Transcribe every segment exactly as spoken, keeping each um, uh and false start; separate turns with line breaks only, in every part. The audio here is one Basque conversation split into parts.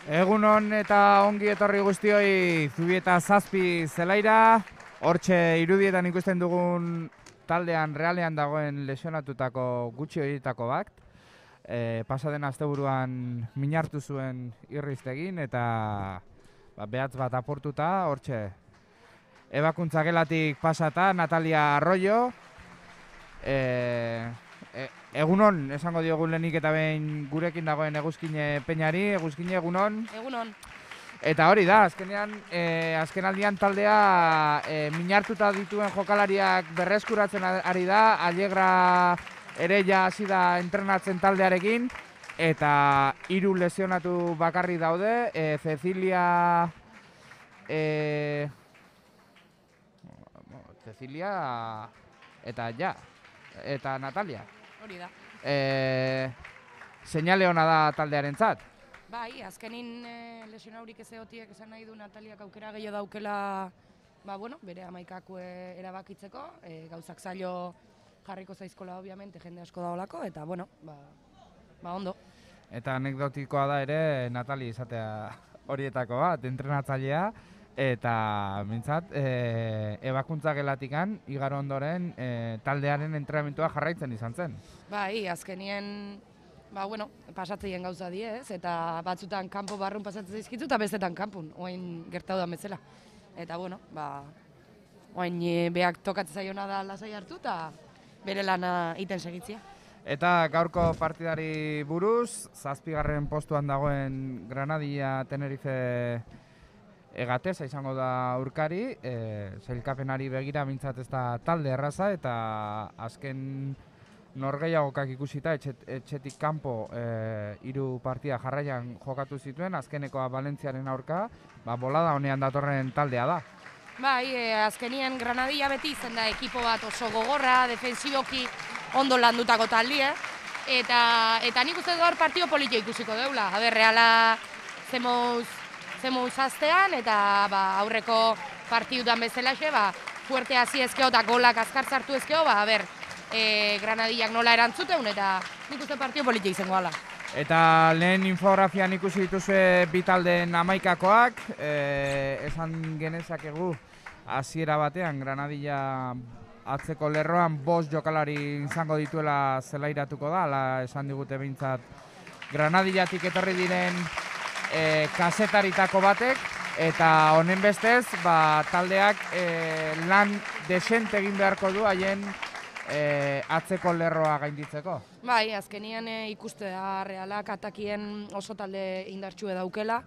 Egunon eta ongi etorri guztioi Zubieta zazpi zelaira. Hortxe irudietan ikusten dugun taldean realean dagoen lesionatutako gutxi horietako bat. E, pasaden asteburuan minartu zuen irriztegin eta ba, behatz bat aportuta, hortxe ebakuntza gelatik pasata Natalia Arroyo. E, e, egunon, esango diogun lehenik eta behin gurekin dagoen Eguzkine Peñari. Eguzkine, egunon.
Egunon.
Eta hori da, azkenean, e, azkenaldian taldea e, minartuta dituen jokalariak berreskuratzen ari da, Allegra ere ja hasi da entrenatzen taldearekin, eta hiru lesionatu bakarri daude, e, Cecilia, e, Cecilia eta ja, eta Natalia.
Hori da.
E, Seinale ona da taldearentzat.
Bai, azkenin e, lesionaurik ez egotiek esan nahi du Nataliak aukera gehiago daukela, ba, bueno, bere hamaikako e, erabakitzeko, e, gauzak zailo jarriko zaizkola, obviamente, jende asko daolako, eta, bueno, ba, ba ondo.
Eta anekdotikoa da ere Natali izatea horietako bat, entrenatzailea, eta mintzat, e, ebakuntza gelatikan, igaro ondoren, e, taldearen entrenamentua jarraitzen izan zen.
Bai, azkenien, ba, bueno, pasatzeien gauza die, ez? Eta batzutan kanpo barrun pasatzen zaizkitu eta bestetan kanpun, oain gertatu da bezala. Eta, bueno, ba, oain e, beak tokatzen zaiona da lasai hartu eta bere lana iten segitzia.
Eta gaurko partidari buruz, zazpigarren postuan dagoen Granadia Tenerife egateza izango da aurkari, e, sailkapenari begira mintzat ez da talde erraza, eta azken norgehiagokak ikusita etxet, etxetik kanpo e, hiru partida jarraian jokatu zituen, azkenekoa Valentziaren aurka, ba, bolada honean datorren taldea da.
Bai, e, azkenien Granadia beti izan da ekipo bat oso gogorra, defensiboki ondo landutako taldie, eta, eta nik uste gaur partio politia ikusiko deula. A ber, Reala zemouz, zemouz aztean, eta ba, aurreko partidutan bezalaxe, ba, fuerte hasi ezkeo eta golak azkar sartu ezkeo, ba, a ber, e, Granadiak nola erantzuten, eta nik uste partio politia izango ala.
Eta lehen infografian ikusi dituzue bi taldeen hamaikakoak, e, esan genezakegu hasiera batean Granadia atzeko lerroan bost jokalari izango dituela zelairatuko da, ala esan digute behintzat Granadiatik etorri diren e, kasetaritako batek, eta honen bestez ba, taldeak e, lan desente egin beharko du haien E, atzeko lerroa gainditzeko.
Bai, azkenian e, ikuste da Realak atakien oso talde indartsue daukela,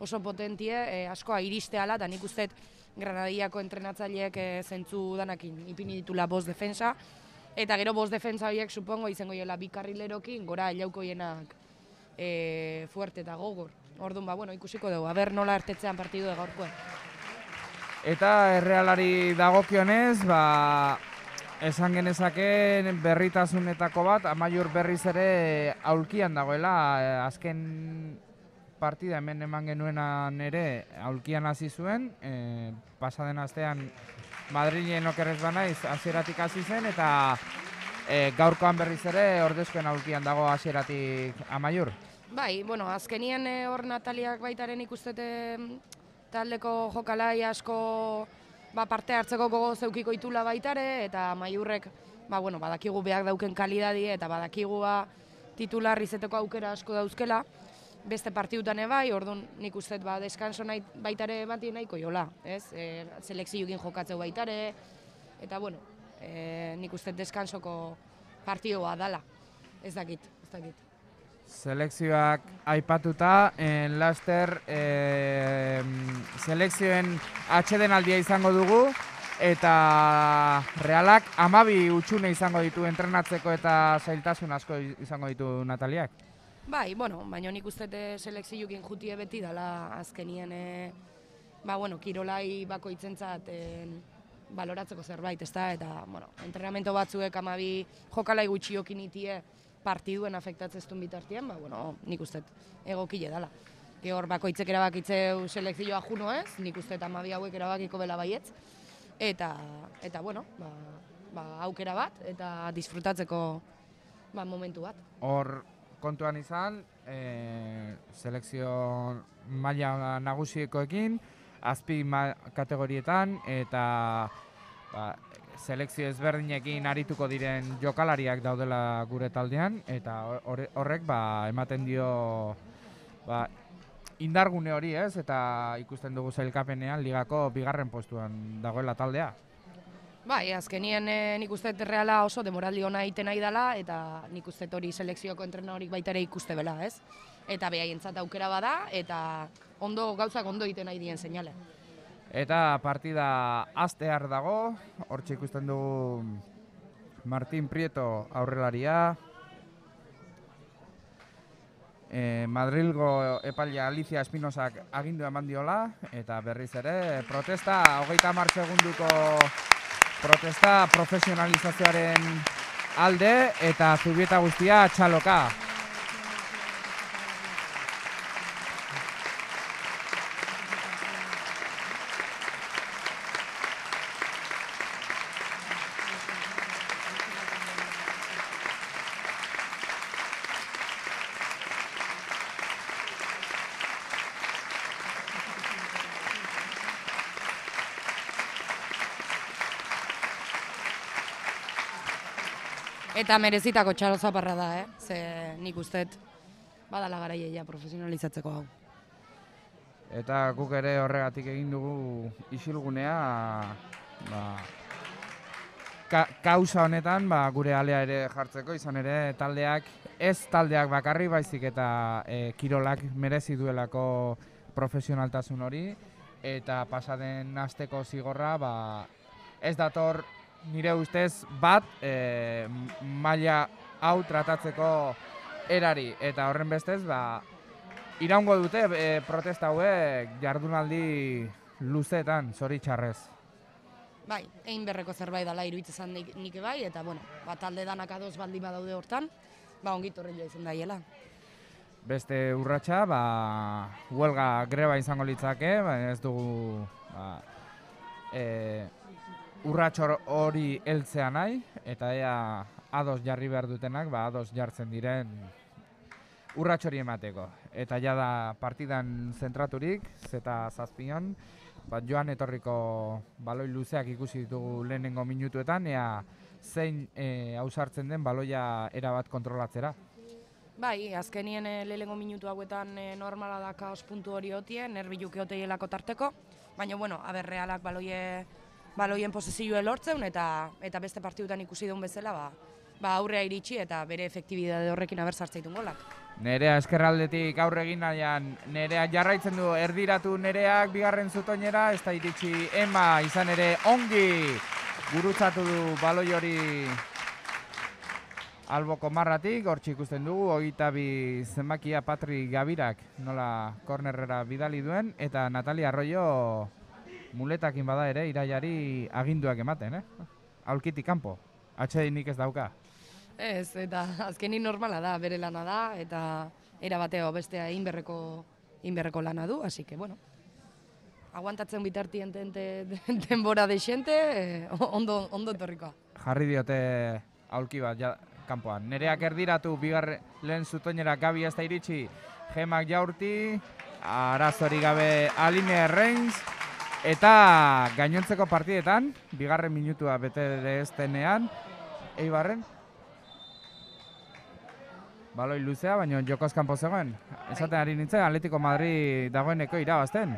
oso potentie, e, askoa iristeala, eta nik usteet Granadiako entrenatzaileek e, zentzu danakin ipini ditula bost defensa, eta gero bost defensa horiek supongo izango joela bi karrilerokin, gora elauko hienak e, fuerte eta gogor. Orduan, ba, bueno, ikusiko dugu, aber nola ertetzean partidu da gaurkoa.
Eta Errealari dagokionez, ba, esan genezake berritasunetako bat, Amaiur berriz ere aulkian dagoela, azken partida hemen eman genuenan ere aulkian hasi zuen, e, pasaden astean Madrilen okerrez banaiz hasieratik hasi zen, eta e, gaurkoan berriz ere ordezkoen aulkian dago hasieratik Amaiur.
Bai, bueno, azkenien hor Nataliak baitaren ikustete taldeko jokalai asko ba, parte hartzeko gogo zeukiko itula baitare, eta Amaiurrek ba, bueno, badakigu beak dauken kalidadi eta badakigu titular izeteko aukera asko dauzkela, beste partidutan ebai, orduan nik uste ba, deskanso nahi, baitare bati nahiko jola, ez? E, selekzioekin jokatzeu baitare, eta bueno, e, nik uste deskansoko partidua dala, ez dakit, ez dakit.
Selekzioak aipatuta, en laster e, selekzioen atsedenaldia izango dugu, eta Realak hamabi utxune izango ditu entrenatzeko eta zailtasun asko izango ditu Nataliak.
Bai, bueno, baina nik uste selekzioekin jutie beti dala azkenien, e, ba, bueno, kirolai bakoitzentzat e, baloratzeko zerbait, ezta, eta, bueno, entrenamento batzuek hamabi jokalai gutxiokin itie, partiduen afektatzeztun bitartian, ba, bueno, nik uste egokile dala. Hor bakoitzek erabakitzeu selekzioa juno ez, nik uste hamabi hauek erabakiko bela baietz, eta, eta bueno, ba, ba, aukera bat, eta disfrutatzeko ba, momentu bat.
Hor kontuan izan, e, selekzio maila nagusiekoekin, azpi kategorietan eta ba, selekzio ezberdinekin arituko diren jokalariak daudela gure taldean, eta horrek ba, ematen dio ba, indargune hori, ez, eta ikusten dugu sailkapenean ligako bigarren postuan dagoela taldea.
Bai, azkenien e, nik uste Reala oso demoraldi ona egiten nahi dela, eta nik uste hori selekzioko entrenadorik baita ere ikuste bela, ez? Eta behaientzat aukera bada, eta ondo gauzak ondo egiten nahi dien seinale.
Eta partida hastear dago, hortxe ikusten dugu Martín Prieto aurrelaria, e, Madrilgo epailea Alicia Espinosak agindu eman diola, eta berriz ere protesta, hogeita hamar segunduko protesta profesionalizazioaren alde eta Zubieta guztia txaloka.
Eta merezitako txalo zaparra da, eh? Ze nik usteet badala garaia profesionalizatzeko hau.
Eta guk ere horregatik egin dugu isilgunea, ba, ka, kausa honetan ba, gure alea ere jartzeko, izan ere taldeak, ez taldeak bakarri baizik eta e, kirolak merezi duelako profesionaltasun hori, eta pasaden asteko zigorra ba, ez dator nire ustez bat e, maila hau tratatzeko erari, eta horren bestez ba, iraungo dute e, protesta hauek jardunaldi luzeetan, zoritxarrez.
Bai, egin berreko zerbait dela iruditzen nik, nik bai, eta bueno, ba, talde danak ados baldin badaude hortan, ba ongit horrela izan daiela.
Beste urratsa, ba, huelga greba izango litzake, ba, ez dugu ba, e, urratxor hori heltzea nahi, eta ea ados jarri behar dutenak, ba, ados jartzen diren urratxori emateko. Eta ja da partidan zentraturik, zeta zazpion, ba, joan etorriko baloi luzeak ikusi ditugu lehenengo minutuetan, ea zein e, ausartzen den baloia erabat kontrolatzera.
Bai, azkenien e, lehenengo minutu hauetan e, normala da kaos puntu hori hotien, nerbiluki hoteielako tarteko, baina, bueno, aber Realak baloie baloien posizioa lortzen, eta eta beste partidutan ikusi duen bezala, ba, ba aurrea iritsi eta bere efektibidade horrekin aber sartzaitun golak.
Nerea eskerraldetik aurre egin nahian, Nerea jarraitzen du erdiratu Nereak bigarren zutoinera, ez da iritsi Ema izan ere ongi gurutzatu du baloi hori alboko marratik, hortxe ikusten dugu, hogeita bi zenbakia Patri Gabirak nola kornerrera bidali duen, eta Natalia Arroyo muletakin bada ere iraiari aginduak ematen, eh? Aulkitik kanpo, atsedenik ez dauka.
Ez, eta azkenin normala da, bere lana da, eta era bateo bestea inberreko, inberreko lana du, así que, bueno, aguantatzen bitartien denbora desente, eh, ondo, ondo etorrikoa.
Jarri diote aulki bat ja, kanpoan. Nereak erdiratu, bigarren lehen zutoinera Gabi ez da iritsi, Gemak jaurti, arazori gabe Aline Reins, eta gainontzeko partidetan, bigarren minutua bete ez denean, Eibarren, baloi luzea, baina jokoz kanpo zegoen. Esaten ari nintzen, Atletico Madrid dagoeneko irabazten.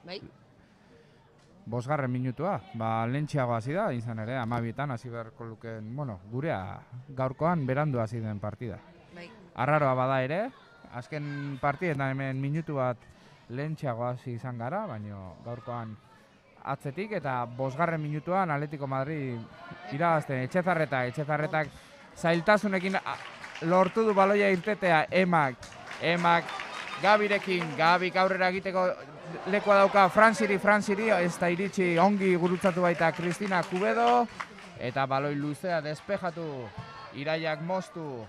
Bai.
Bosgarren minutua, ba, lentxiago hasi da, izan ere, amabietan hasi beharko luken, bueno, gurea gaurkoan berandu hasi den partida.
Bai.
Arraroa bada ere, azken partidetan hemen minutu bat lentxiago hasi izan gara, baina gaurkoan atzetik, eta bosgarren minutuan Atletico Madrid irabazten. Etxezarreta, Etxezarretak zailtasunekin lortu du baloia irtetea Emak, Emak Gabirekin, Gabik aurrera egiteko lekoa dauka Franziri, Franziri, ez da iritsi ongi gurutzatu baita Cristina Cubedo, eta baloi luzea despejatu, Iraiak moztu,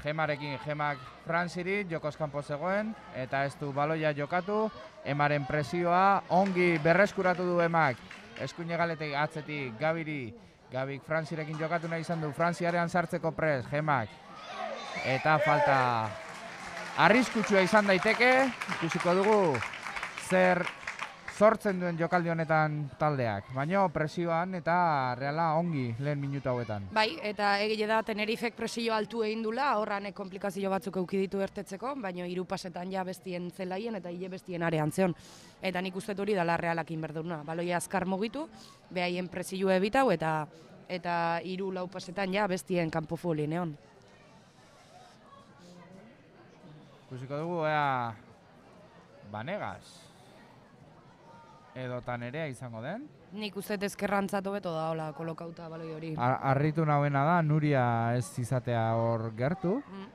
Gemarekin, Gemak Franziri, jokoz kanpo zegoen, eta ez du baloia jokatu, Emaren presioa ongi berreskuratu du Emak, eskuine galetek atzetik Gabiri, Gabik Franzirekin jokatu nahi izan du, Frantziarean sartzeko pres, Gemak, eta falta arriskutsua izan daiteke, ikusiko dugu zer sortzen duen jokaldi honetan taldeak, baina presioan eta Reala ongi lehen minutu hauetan.
Bai, eta egile da Tenerifek presio altu egin dula, horranek komplikazio batzuk euki ditu ertetzeko, baina hiru pasetan ja bestien zelaien eta hile bestien arean zeon. Eta nik uste hori dala Realakin berduna. Baloia azkar mugitu, behaien presioa ebitau eta eta hiru lau pasetan ja bestien kanpo folien egon.
Ikusiko dugu, ea Banegas edo Nerea izango den.
Nik uste ezkerrantzatu beto da, hola, kolokauta baloi hori.
Arritu nahuena da, Nuria ez izatea hor gertu. Mm.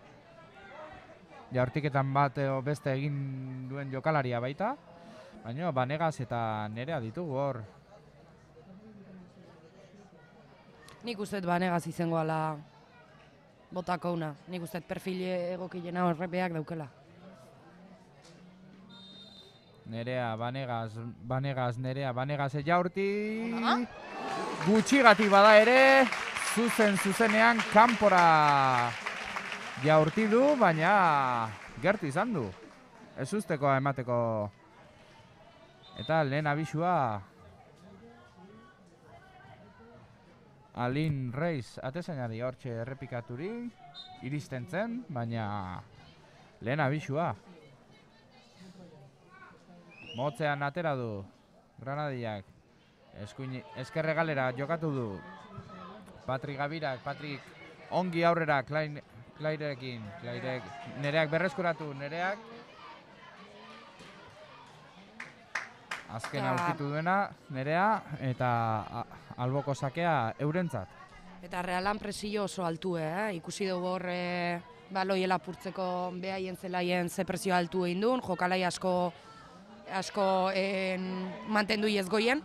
Jaurtiketan bat edo beste egin duen jokalaria baita. Baina Banegas eta Nerea ditugu hor.
Nik uste Banegas izango ala botako una. Nik uste perfil egokilena horrepeak daukela.
Nerea, Banegas, Banegas, Nerea, Banegas Jaurti. Gutxigati bada ere, zuzen zuzenean kanpora Jaurti du, baina gertu izan du. Ez usteko emateko. Eta lehen abisua Alin Reis atezainari hortxe errepikaturi, iristen zen, baina lehen abisua. Motzean atera du Granadiak, eskerre galera jokatu du Patrik Gabirak, Patrik ongi aurrera Klairekin, Nereak berreskuratu, Nereak azken aurkitu duena, Nerea, eta alboko sakea eurentzat.
Eta Realan presio oso altu, eh? Ikusi dugu hor baloi lapurtzeko behaien zelaien ze presio altu egin duen, jokalai asko asko mantendu iezgoien,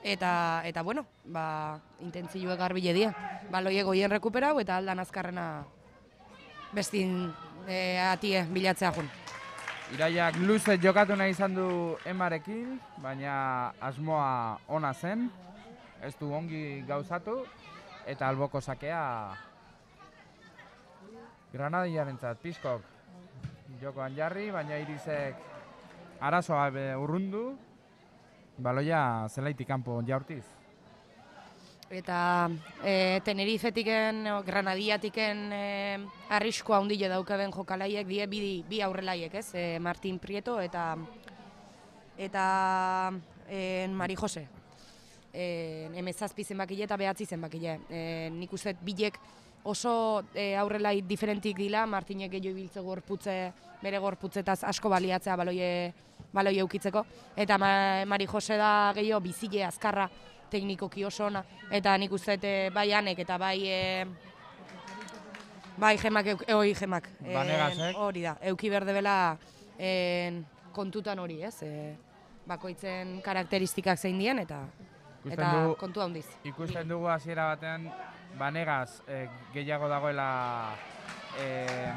eta, eta bueno, ba, intentzioek garbile dira. Baloi egoien rekuperau eta aldan azkarrena bestin e, atie bilatzea jun.
Iraiak luze jokatu nahi izan du Emarekin, baina asmoa ona zen, ez du ongi gauzatu, eta alboko sakea Granadiarentzat Pizkok jokoan jarri, baina Irisek arazoa urrundu, baloia zelaitik kanpo Jaurtiz.
Eta e, Tenerifetiken, Granadiatiken e, arriskoa handile daukaben jokalaiek, die bi, bi aurrelaiek, ez? E, Martin Prieto eta eta e, Mari Jose. E, Hemezazpi zenbakile eta behatzi zenbakile. E, nik uste bilek oso e, aurrelai diferentik dila, Martinek gehiago ibiltze gorputze, bere gorputzetaz asko baliatzea baloie, baloie eukitzeko. Eta ma, Mari Jose da gehiago bizile, azkarra, teknikoki oso ona. Eta nik uste bai Anek eta bai e, bai Gemak, eoi Gemak.
Banegasek.
Hori da, euki berde bela e, kontutan hori, ez? E, bakoitzen karakteristikak zein dien eta, eta
du,
kontu handiz.
Ikusten dugu hasiera batean Banegas eh, gehiago dagoela eh,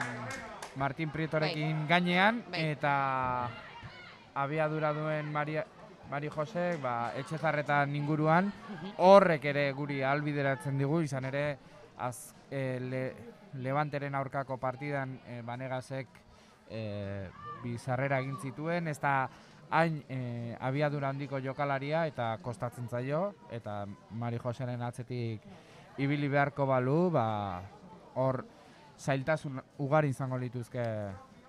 Martin Prietorekin bai. Gainean, bai. Eta abiadura duen Mari, Mari Josek ba, Etxezarretan inguruan, horrek ere guri ahalbideratzen digu, izan ere az, eh, le, Levanteren aurkako partidan eh, Banegasek eh, bizarrera egin zituen, ez da hain eh, abiadura handiko jokalaria eta kostatzen zaio, eta Mari Joseren atzetik ibili beharko balu, ba, hor zailtasun ugari izango lituzke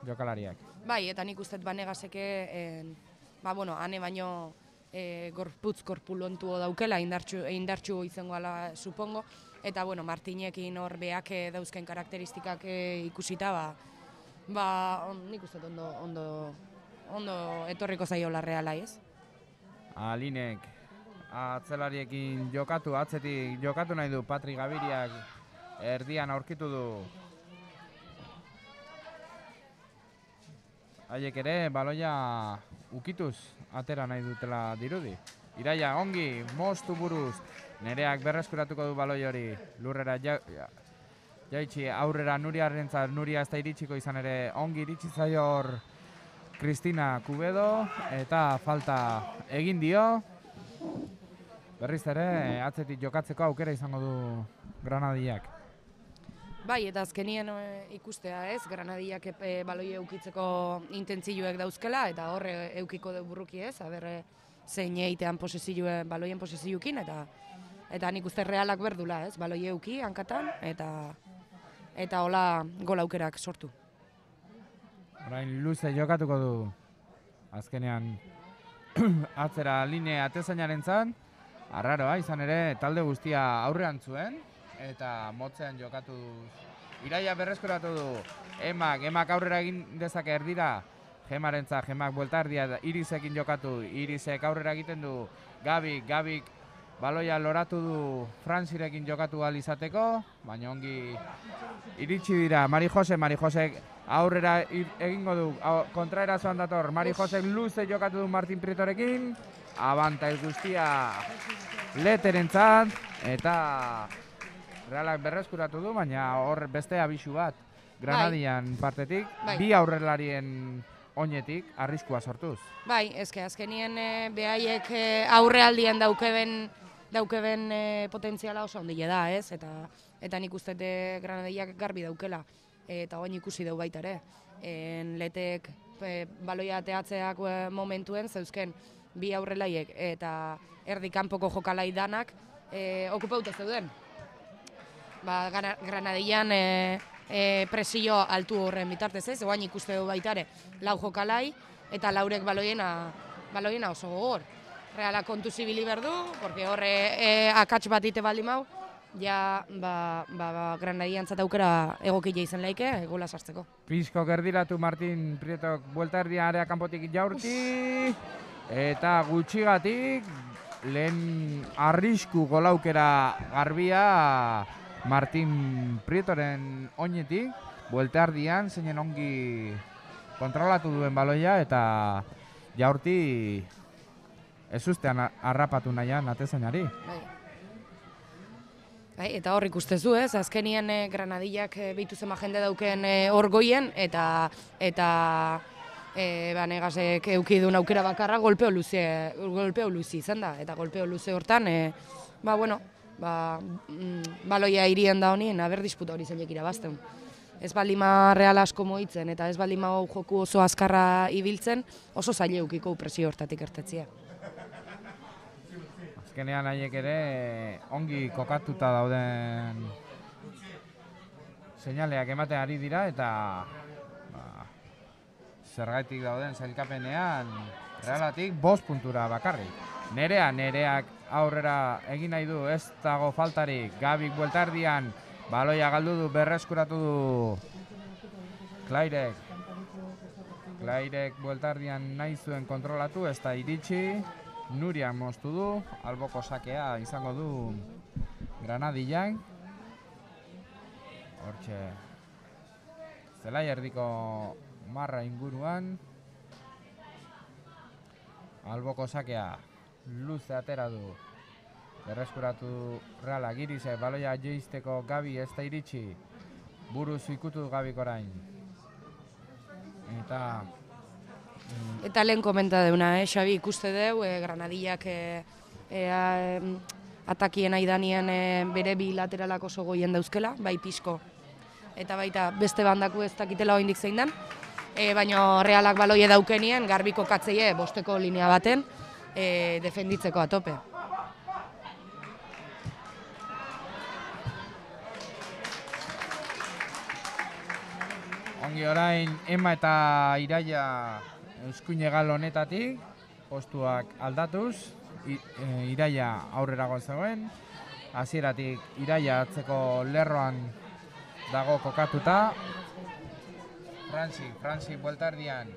jokalariak.
Bai, eta nik uste Banegaseke, en, ba, bueno, ane baino e, gorputz korpulontu daukela, indartxu, indartxu izango ala, supongo, eta, bueno, Martinekin hor beak dauzken karakteristikak e, ikusita, ba, ba on, nik uste ondo, ondo, ondo etorriko zaiola Reala, ez?
Alinek atzelariekin jokatu, atzetik jokatu nahi du Patrik Gabiriak, erdian aurkitu du. Haiek ere, baloia ukituz atera nahi dutela dirudi. Iraia, ongi, moztu buruz, Nereak berreskuratuko du baloi hori, lurrera ja, ja, jaitsi aurrera Nuriarentzat, Nuria ez da iritsiko izan ere, ongi iritsi zaio hor Kristina Kubedo, eta falta egin dio. Berriz ere, atzetik jokatzeko aukera izango du Granadiak.
Bai, eta azkenien e, ikustea ez, Granadillak e, baloi eukitzeko intentzioek dauzkela, eta horre eukiko du burruki ez, aber zein eitean posizioe, baloien posizioekin, eta eta nik uste Realak berdula ez, baloi euki hankatan, eta eta hola gol aukerak sortu.
Orain luze jokatuko du azkenean atzera linea atezainaren zan, arraroa izan ere talde guztia aurrean zuen, eta motzean jokatu Iraia berreskuratu du, emak, emak aurrera egin dezake erdira, Gemarentza, Gemak buelta erdia, Irisekin jokatu, Irisek aurrera egiten du, Gabik, Gabik baloia loratu du Frantzirekin jokatu ahal izateko, baina ongi iritsi dira, Mari Jose, Mari Josek aurrera egingo du, kontraerazoan dator, Mari Josek luze jokatu du Martin Prietorekin, abanta ez guztia Leterentzat, eta Realak berreskuratu du, baina hor beste abisu bat, Granadian partetik,
Bai.
bi aurrelarien oinetik arriskua sortuz.
Bai, eske azkenien e, behaiek e, aurrealdian daukeben daukeben e, potentziala oso handia da, ez? Eta eta nik uste dut Granadillak garbi daukela, eta oin ikusi dau baita ere. En letek e, baloia ateatzeak e, momentuen zeuzken bi aurrelaiek eta erdi kanpoko jokalai danak e, okupauta zeuden. Ba, Granadillan e, e, presio altu horren bitartez ez, oain ikuste du baita ere lau jokalai eta laurek baloiena, baloiena oso gogor. Reala kontu zibili berdu, porque horre e, akats bat ite baldin mau, ja ba, ba, ba, Granadillan aukera egokila izan laike, gola sartzeko.
Pizko gerdiratu Martin Prietok buelta erdia area kanpotik jaurti, eta gutxigatik lehen arrisku golaukera garbia Martin Prietoren oinetik, buelta erdian zeinen ongi kontrolatu duen baloia eta jaurti ez ustean harrapatu nahian atezainari.
Bai. Bai, eta hor ikustezu ez, azkenien eh, Granadillak eh, behitu zema jende dauken eh, hor goien, eta eta eh, ba, negasek eukidun aukera bakarra golpeo luze, golpeo luze izan da, eta golpeo luze hortan, eh, ba, bueno, ba, mm, baloia irien da honien, aber disputa hori zeinek irabazten. Ez baldima Real asko moitzen, eta ez baldima joku oso azkarra ibiltzen, oso zaile eukiko presio hortatik ertetzia.
Azkenean haiek ere ongi kokatuta dauden seinaleak ematen ari dira eta ba, zergaitik dauden sailkapenean Realatik bost puntura bakarrik. Nerea, Nereak aurrera egin nahi du, ez dago faltarik, Gabik bueltardian, baloia galdu du, berreskuratu du Klairek. Klairek bueltardian nahi zuen kontrolatu, ez da iritsi. Nuria moztu du, alboko sakea izango du Granadillan. Hortxe zelai erdiko marra inguruan. Alboko sakea luze atera du. Berreskuratu Reala Girise, baloia joizteko Gabi ez da iritsi. Buruz ikutu Gabik orain. Eta
Eta lehen komenta deuna, eh, Xabi, ikuste deu, eh, Granadillak eh, eh, atakien aidanien eh, bere bilateralak oso goien dauzkela, bai pixko. Eta baita beste bandaku ez dakitela oindik zein den, eh, baina Realak baloie daukenien, garbiko katzeie bosteko linea baten, eh, defenditzeko atope.
Ongi orain, Ema eta Iraia eskuinegal honetatik, postuak aldatuz, I, e, Iraia aurrera zegoen, hasieratik Iraia atzeko lerroan dago kokatuta. Frantzi, Frantzi bueltardian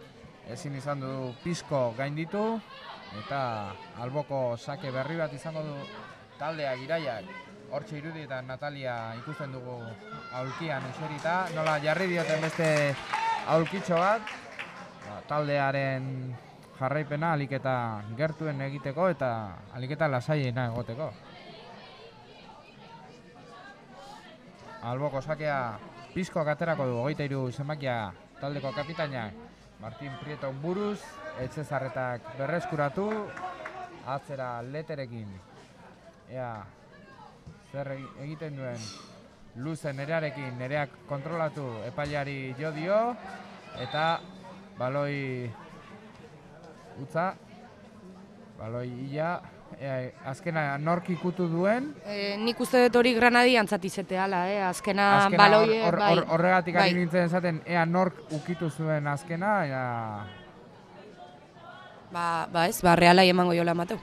ezin izan du pizko gainditu, eta alboko sake berri bat izango du taldeak Iraiak. Hortxe irudietan Natalia ikusten dugu aulkian eserita, nola jarri dioten beste aulkitxo bat, ba, taldearen jarraipena aliketa gertuen egiteko eta aliketa lasaiena egoteko. Alboko sakea pizkoak aterako du, hogeita hiru zenbakia taldeko kapitainak Martin Prieto buruz, Etxezarretak berreskuratu, atzera Leterekin. Ea, zer egiten duen luze nerearekin, nereak kontrolatu epailari jo dio, eta baloi utza, baloi ia, e, azkena nork ikutu duen.
E, nik uste dut hori Granadi antzatizete ala, eh? azkena,
azkena
baloie,
or, or,
bai.
Or, horregatik
bai.
ari nintzen esaten, ea nork ukitu zuen azkena, ea...
Ba, ba ez, ba, Realai emango jola emateu.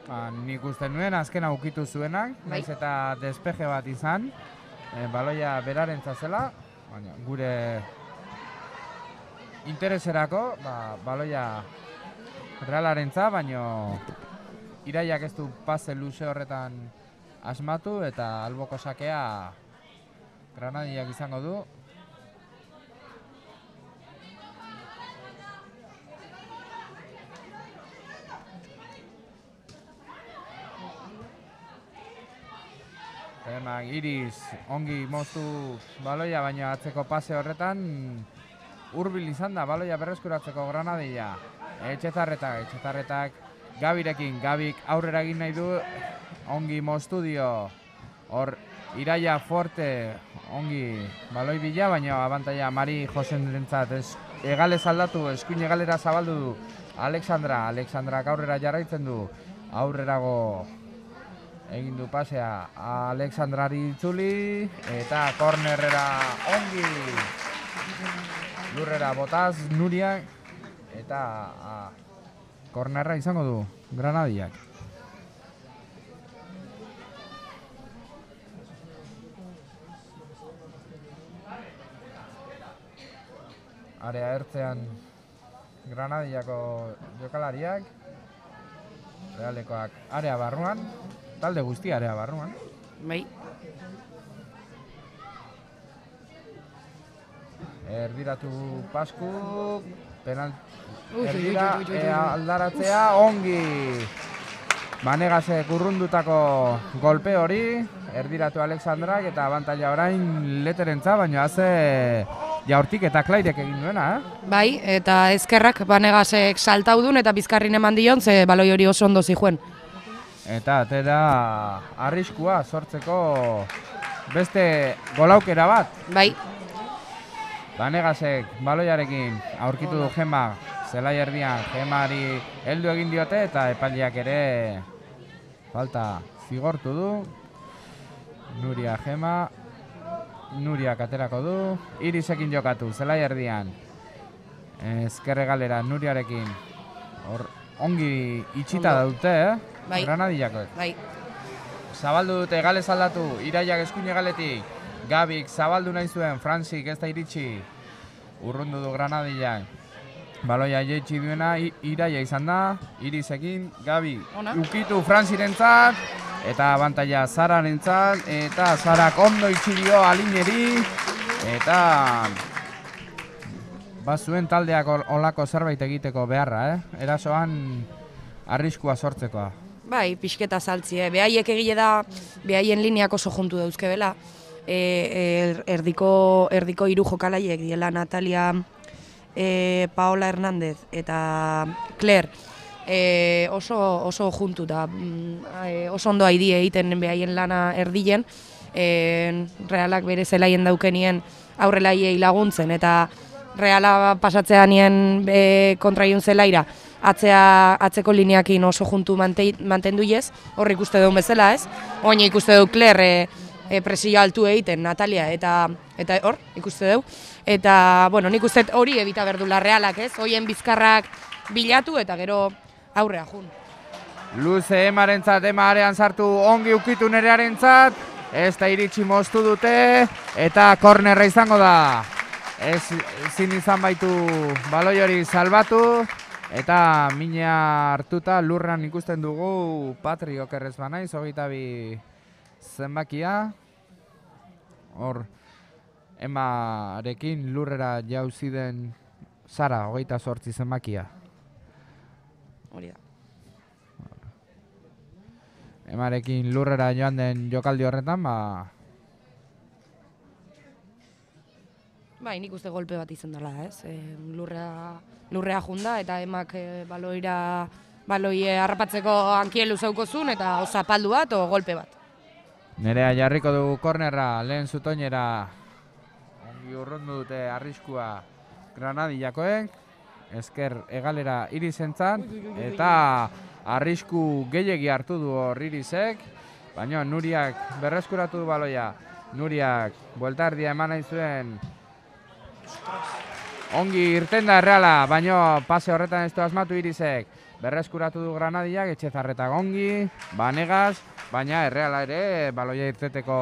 Ba, nik uste nuen azkena ukitu zuenak,
Bai.
naiz eta despeje bat izan, e, baloia berarentza zela, baina gure intereserako, ba, baloia Realarentza, baino Iraiak ez du pase luze horretan asmatu eta alboko sakea Granadiak izango du. Emak Iris ongi moztu baloia, baina atzeko pase horretan hurbil izan da baloia berreskuratzeko Granadia. Etxezarretak, Etxezarretak Gabirekin, Gabik aurrera egin nahi du, ongi moztu dio. Hor Iraia Forte ongi baloi bila, baina abantaia Mari Josenrentzat egalez aldatu, eskuin egalera zabaldu du Alexandra, Alexandrak aurrera jarraitzen du, aurrerago egin du pasea Alexandrari itzuli, eta kornerrera ongi lurrera botaz Nuriak, eta a, kornerra izango du Granadiak. Area ertzean Granadiako jokalariak, Realekoak area barruan, talde guztia area barruan.
Bai.
Erdiratu Pasku, penal...
Ui,
Erdira,
ui, ui, ui, ui, ui.
ea aldaratzea, ongi! Banegasek urrundutako golpe hori, erdiratu Alexandrak eta abantaila orain Leterentza, baina haze jaurtik eta Klairek egin duena, eh?
Bai, eta ezkerrak Banegasek saltaudun eta bizkarrin eman dion, ze baloi hori oso ondo zihuen.
Eta atera arriskua sortzeko beste golaukera bat.
Bai.
Banegasek baloiarekin aurkitu du Gema, zelai erdian Gemari heldu egin diote eta epaileak ere falta zigortu du. Nuria Gema, Nuriak aterako du, Irisekin jokatu, zelai erdian. Ezkerre galera Nuriarekin, hor ongi itxita dute, eh?
Bai.
Granadiakoek.
Bai.
Zabaldu dute, galez aldatu, Iraiak eskuine galetik, Gabik zabaldu nahi zuen, Franzik ez da iritsi, urrundu du Granadiak. Baloia jeitsi duena, Iraia izan da, Irisekin, Gabi
Ona.
ukitu Frantzirentzat, eta abantaila Zararentzat, eta Zarak ondo itxi dio Alineri, eta bazuen taldeak olako zerbait egiteko beharra, eh? Erasoan arriskua sortzekoa.
Bai, pixketa saltzi, eh? Behaiek egile da, behaien lineak oso juntu dauzkebela. E, er, erdiko, erdiko hiru jokalaiek diela Natalia, e, Paola Hernández eta Claire, e, oso, oso juntu da, e, oso ondo haidi egiten behaien lana erdien, e, Realak bere zelaien daukenien aurrelaiei laguntzen, eta Reala pasatzea nien e, kontraiun zelaira, atzea, atzeko lineakin oso juntu mantendu ez, hor ikuste duen bezala ez, oina ikuste du Claire e, e, presio altu egiten Natalia, eta eta hor ikuste du, eta bueno, nik uste hori ebita berdula Realak ez, hoien bizkarrak bilatu eta gero aurrea jun.
Luze Emarentzat, Ema arean sartu ongi ukitu nerearentzat, ez da iritsi moztu dute, eta kornerra izango da. Ez zin izan baitu baloi hori salbatu, eta mina hartuta lurran ikusten dugu Patri okerrez banaiz, hogeita bi zenbakia. Hor, Emarekin lurrera jauzi den Sara, hogeita zortzi zenbakia.
Hori da.
Emarekin lurrera joan den jokaldi horretan, ba...
Bai, nik uste golpe bat izan dela, ez? E, lurrea, lurrea junda eta emak e, baloira, baloie harrapatzeko hankielu zeukozun eta o zapaldu bat o golpe bat.
Nerea jarriko dugu kornerra, lehen zutoinera. Ongi urrundu dute arriskua Granadillakoek. Ezker egalera Irisentzat. Eta arrisku gehiegi hartu du hor Irisek. Baina Nuriak berreskuratu du baloia. Nuriak bueltardia eman nahi zuen. Ongi irten da Erreala, baina pase horretan ez du asmatu Irisek. Berreskuratu du Granadillak, Etxezarretak ongi, Banegas, baina Erreala ere baloia irteteko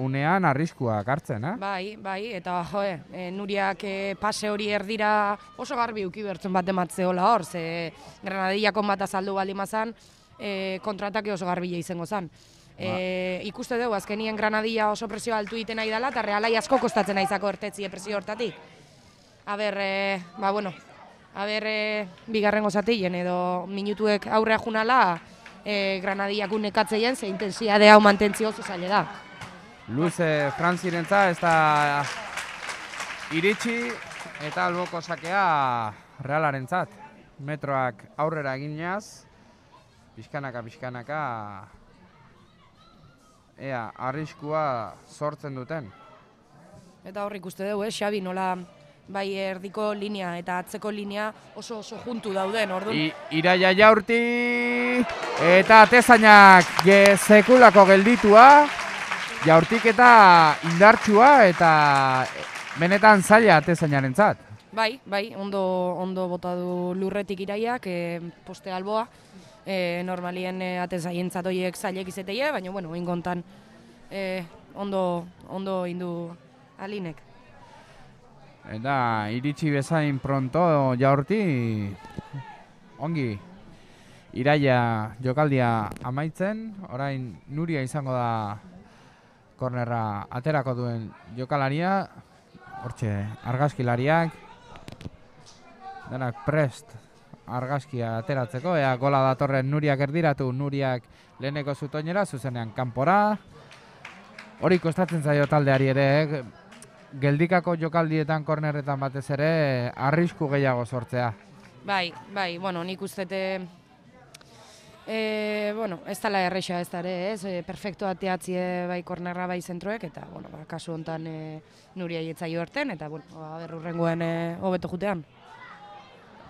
unean arriskuak hartzen, eh?
Bai, bai, eta joe, e, Nuriak e, pase hori erdira oso garbi uki bertzen bat ematzeola hor, ze Granadillako bat azaldu balimazan, e, kontratake oso garbila izango zen. E, ikuste dugu, azkenien Granadilla oso presio altu egiten nahi dela, eta Realai asko kostatzen naizako ertetzie presio hortatik. A ber, e, ba, bueno, a ber, e, bigarrengo zatien edo minutuek aurrea junala, e, Granadillak unekatzeien, ze intensiade hau mantentzio oso zaila da.
Luze Frantzirentzat ez da iritsi eta alboko sakea Realarentzat. Metroak aurrera eginaz, pixkanaka, pixkanaka, ea, arriskua sortzen duten.
Eta hor ikuste dugu, eh, Xabi, nola bai erdiko linea eta atzeko linea oso oso juntu dauden, orduan.
I, Iraia Jaurti eta Atezainak ge sekulako gelditua. Jaurtik eta indartsua eta benetan zaila Atezainarentzat.
Bai, bai, ondo, ondo bota du Lurretik Iraiak, e, poste alboa. E, normalien e, Atezaientzat horiek zailek izeteie, baina, bueno, ingontan e, ondo, ondo indu Alinek.
Eta iritsi bezain pronto Jaurti ongi Iraia jokaldia amaitzen, orain Nuria izango da kornerra aterako duen jokalaria, hortxe argazkilariak, denak prest argazkia ateratzeko, ea gola datorren Nuriak erdiratu, Nuriak leheneko zutoinera, zuzenean kanpora, hori kostatzen zaio taldeari ere, eh? Geldikako jokaldietan kornerretan batez ere arrisku gehiago sortzea.
Bai, bai, bueno, nik ustete, e, bueno, ez dela erresa ez da ere, ez, e, perfecto ateatzie bai kornerra bai zentroek, eta, bueno, ba, kasu honetan e, Nuria jetzaio erten, eta, bueno, ba, berrurrengoen e, hobeto jutean.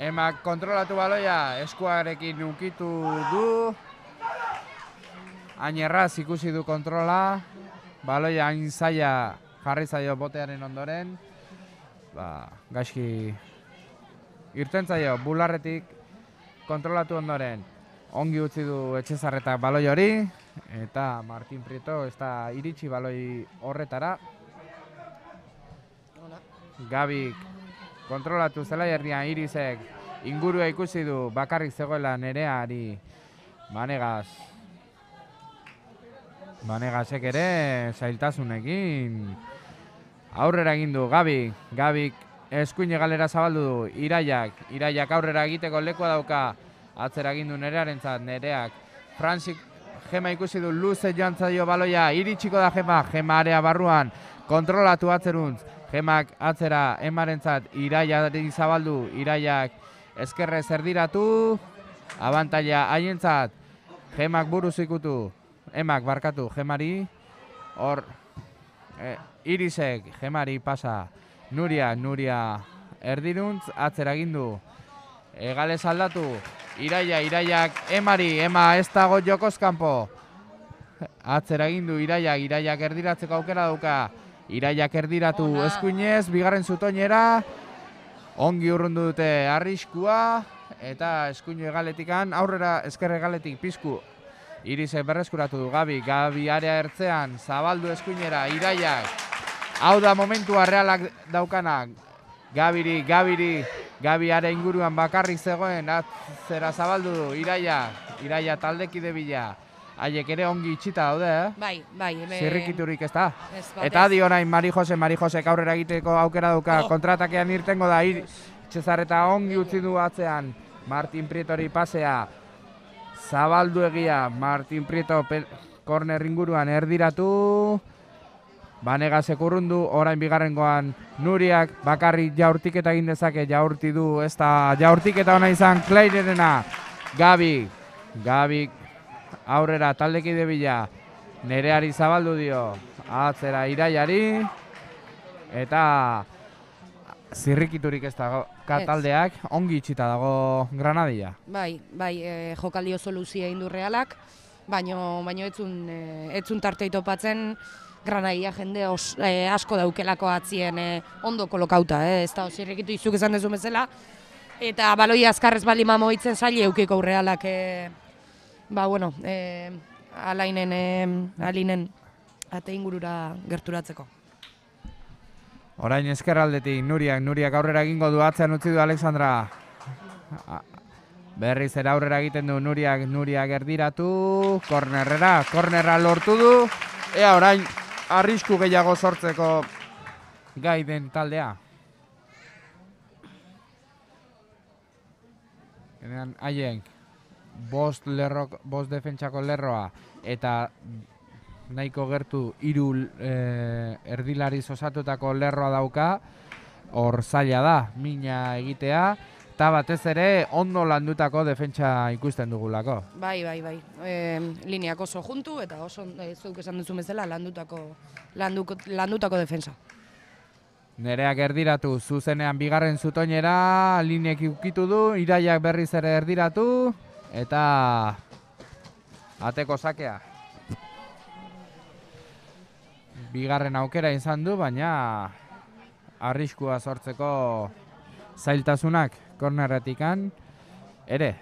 Emak kontrolatu baloia, eskuarekin ukitu du, hain erraz ikusi du kontrola, baloia hain zaila jarri zaio botearen ondoren, ba, gaizki irten zaio bularretik kontrolatu ondoren, ongi utzi du Etxezarretak baloi hori, eta Martin Prieto ez da iritsi baloi horretara. Gabik kontrolatu zelai erdian Irisek ingurua ikusi du, bakarrik zegoela Nereari Banegas. Banegasek ere zailtasunekin aurrera egin du Gabik. Gabik eskuin galera zabaldu du Iraiak. Iraiak aurrera egiteko lekua dauka. Atzera egin du Nerearentzat, Nereak. Franzik Gema ikusi du, luze joan zaio baloia, iritsiko da Gema, Gema area barruan, kontrolatu atzeruntz. Gemak atzera Emarentzat, Iraiari zabaldu, Iraiak ezkerrez erdiratu, abantaila haientzat, Gemak buruz ikutu, Emak barkatu Gemari, hor e, Irisek Gemari pasa, Nuria, Nuria erdiruntz, atzera gindu, Egales aldatu, Iraia, Iraiak Emari, Ema ez dago jokozkanpo, atzera gindu Iraiak, Iraiak erdiratzeko aukera dauka, Iraiak erdiratu eskuinez, bigarren zutoinera, ongi urrundu dute arriskua, eta eskuinu egaletikan, aurrera ezker egaletik pizku, Irisek berreskuratu du Gabi, Gabi area ertzean, zabaldu eskuinera, Iraiak, hau da momentua Realak daukanak, Gabiri, Gabiri, Gabi area inguruan bakarrik zegoen, atzera zabaldu du, Iraia, Iraia taldekide bila, haiek ere ongi itxita daude, eh?
Bai, bai. Be...
Zirrikiturik ez da.
Ez,
eta adi orain Mari Jose, Mari Josek aurrera egiteko aukera dauka, oh. Kontratakean irtengo da, Etxezarreta ongi utzi du atzean, Martin Prietori pasea, zabaldu egia, Martin Prieto korner inguruan erdiratu, Banegasek urrundu, orain bigarrengoan Nuriak bakarrik jaurtiketa egin dezake, jaurti du, ez da jaurtiketa ona izan Kleirerena, Gabi, Gabi, aurrera taldekide bila, Nereari zabaldu dio, atzera Iraiari, eta zirrikiturik ez dago taldeak, ongi itxita dago Granadia.
Bai, bai, e, jokaldi oso luzia indu Realak, baino, baino etzun, e, etzun tartei topatzen Granadia jende os, e, asko daukelako atzien e, ondo kolokauta, e, ez da, zirrikitu izuk esan dezu bezala, eta baloi azkarrez bali mamoitzen zaila eukiko Realak, e, ba, bueno, e, alainen, e, alinen ate ingurura gerturatzeko.
Orain ezkerraldetik Nuriak, Nuriak aurrera egingo du, atzean utzi du Alexandra. Berriz ere aurrera egiten du Nuriak, Nuriak erdiratu, kornerrera, kornerra lortu du. Ea orain arrisku gehiago sortzeko gai den taldea. Genean haien bost lerro, bost defentsako lerroa eta nahiko gertu hiru e, erdilariz osatutako lerroa dauka, hor zaila da, mina egitea, eta batez ere ondo landutako defentsa ikusten dugulako.
Bai, bai, bai. E, lineak oso juntu eta oso, e, zuk esan duzu bezala, landutako, landuko, landutako defensa.
Nereak erdiratu, zuzenean bigarren zutoinera, lineek ukitu du, Iraiak berriz ere erdiratu, eta ateko sakea. Bigarren aukera izan du, baina arriskua sortzeko zailtasunak kornerretikan ere.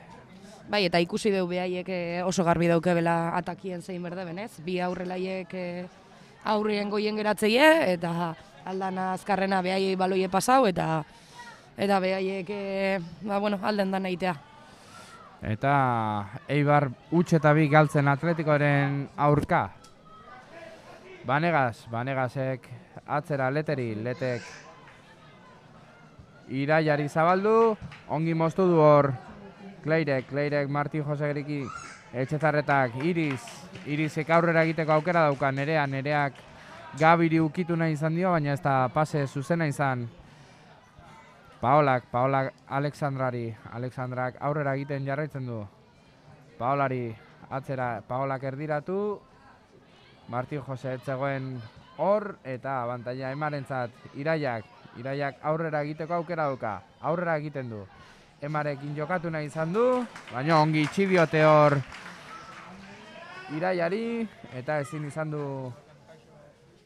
Bai, eta ikusi dugu behaiek oso garbi daukebela atakien zein berdeben, ez? Bi aurrelaiek aurrien goien geratzeie, eta aldana azkarrena behaiei baloie pasau, eta eta behaiek ba, bueno, alden dan egitea.
Eta Eibar huts eta bi galtzen Atletikoaren aurka. Banegas, Banegasek atzera leteri, letek Iraiari zabaldu, ongi moztu du hor Kleirek, Kleirek Martin Josegriki, Etxezarretak, Iris, Irisek aurrera egiteko aukera dauka, Nerea, Nereak Gabiri ukitu nahi izan dio, baina ez da pase zuzena izan. Paolak, Paolak Alexandrari, Alexandrak aurrera egiten jarraitzen du. Paolari atzera, Paolak erdiratu, Martin Jose etzegoen hor, eta abantaila Emarentzat Iraiak, Iraiak aurrera egiteko aukera dauka, aurrera egiten du. Emarekin jokatu nahi izan du, baina ongi itxibiote hor Iraiari, eta ezin izan du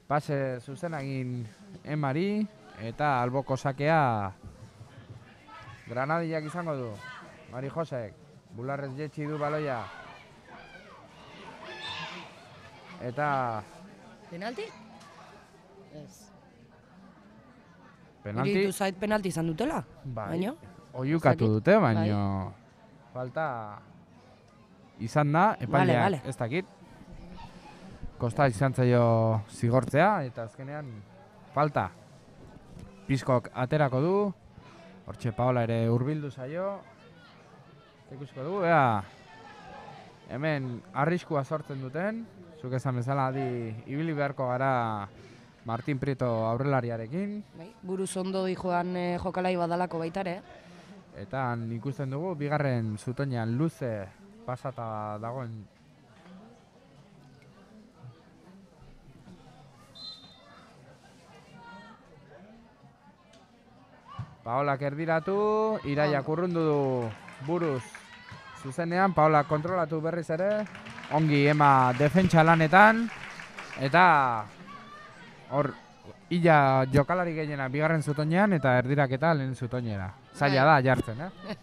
pase zuzenagin Emari, eta alboko sakea Granadillak izango du. Mari Josek, bularrez jetxi du baloia. Eta...
Penalti? Ez.
Penalti?
Iritu zait penalti izan dutela,
bai.
Baino?
Oiukatu dute, baino... Bai. Falta... Izan da, epaileak vale, vale. Ez dakit. Kosta izan zaio zigortzea, eta azkenean falta. Pizkok aterako du. Hortxe Paola ere hurbildu zaio. Ikusiko dugu, ea... Hemen arriskua sortzen duten. Zuk esan bezala, adi, ibili beharko gara Martin Prieto aurrelariarekin.
Bai, buruz ondo joan e, jokalai badalako baitare.
Eta ikusten dugu, bigarren zutoinean luze pasata dagoen. Paolak erdiratu, Iraiak urrundu du buruz zuzenean, Paolak kontrolatu berriz ere. Ongi ema defentsa lanetan, eta hor illa jokalari gehiena bigarren zutoinean eta erdirak eta lehen zutoinera. Zaila da jartzen, eh?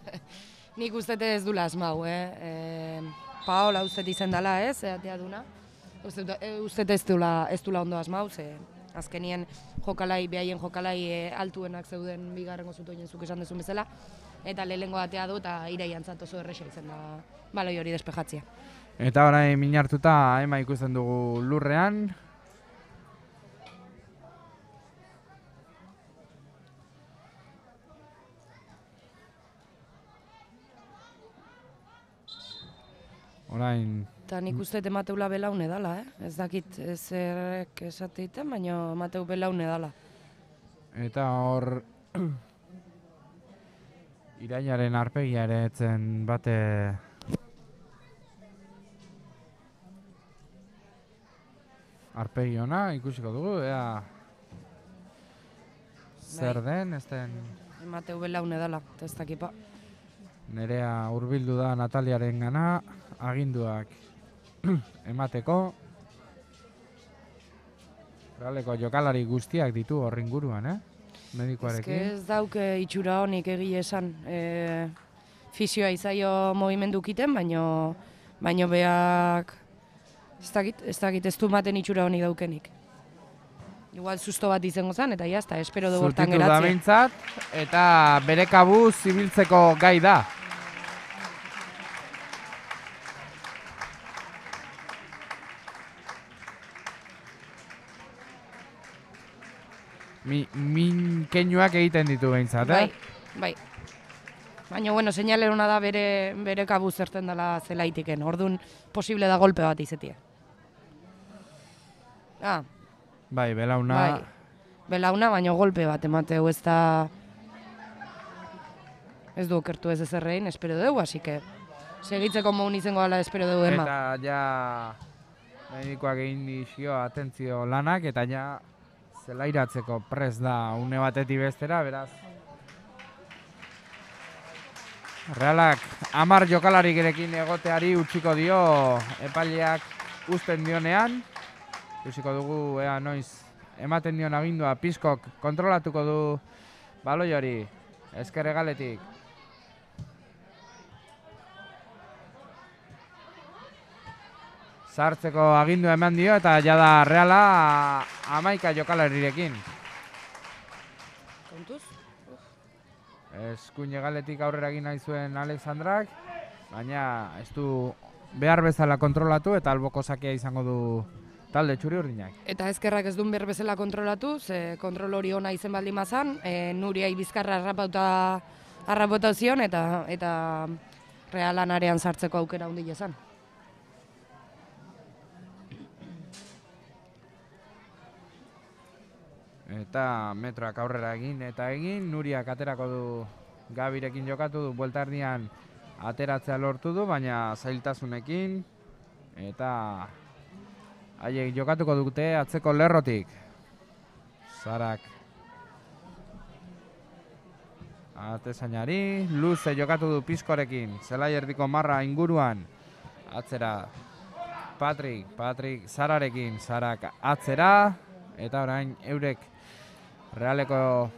Nik ustete ez dula asmau, eh? E, Paola ustete izan dela, ez, eatea duna. Ustete ez dula, ez dula ondo asmau, ze azkenien jokalai, behaien jokalai e, altuenak zeuden bigarrengo zutoinen zuk esan dezun bezala, eta lehengo atea du eta Iraiantzat oso erresa izan da baloi hori despejatzea.
Eta orain minartuta ema ikusten dugu lurrean. Orain...
Eta nik uste Mateula belaune dala, eh? Ez dakit ezerrek esateiten, baina Mateu belaune dala.
Eta hor... Iraiaren arpegia ere etzen bate... arpegi ona, ikusiko dugu, ea zer den, ez den...
Emateu belaune dela, eta ez dakipa.
Nerea hurbildu da Nataliaren gana, aginduak emateko. Realeko jokalari guztiak ditu horri inguruan, eh? Medikoarekin.
Ez ez dauke itxura honik egia esan. E, fisioa izaio movimendu kiten, baino, baino beak ez dakit, ez dakit ez du maten itxura honik daukenik. Igual susto bat izango zen, eta jazta, espero dugu hortan
Zutitu da
geratzea.
behintzat, eta bere kabuz zibiltzeko gai da. Mi, min keinuak egiten ditu behintzat, eh?
Bai, bai. Baina, bueno, seinale hona da bere, bere kabuz zerten dela zelaitiken. Orduan, posible da golpe bat izetie. Ah,
Bai, belauna...
bai. Belauna, baina golpe bat emateu ez da... Ez du okertu ez ezerrein, espero dugu, así que... Segitzeko moun izango gala espero dugu ema.
Eta ja... Medikoak egin dizio atentzio lanak, eta ja... Zelairatzeko prest da une batetik bestera, beraz. Realak hamar jokalarirekin egoteari utziko dio epaileak uzten dionean. Ikusiko dugu ea noiz ematen dion agindua Pizkok kontrolatuko du baloi hori ezker hegaletik. Sartzeko agindua eman dio eta jada Reala hamaika jokalarirekin.
Kontuz?
Eskuin hegaletik aurrera egin nahi zuen Alexandrak, baina ez du behar bezala kontrolatu eta alboko sakea izango du talde txuri urdinak.
Eta ezkerrak ez duen behar bezala kontrolatu, ze kontrol hori ona izen baldin mazan, e, Nuriai bizkarra harrapauta harrapauta zion eta eta Realan arean sartzeko aukera handia izan.
Eta metroak aurrera egin eta egin, Nuriak aterako du Gabirekin jokatu du, buelta erdian ateratzea lortu du, baina zailtasunekin. Eta haiek jokatuko dute atzeko lerrotik. Zarak atezainari, luze jokatu du Pizkorekin, zelai erdiko marra inguruan. Atzera Patrik, Patrik Zararekin, Zarak atzera. Eta orain eurek Realeko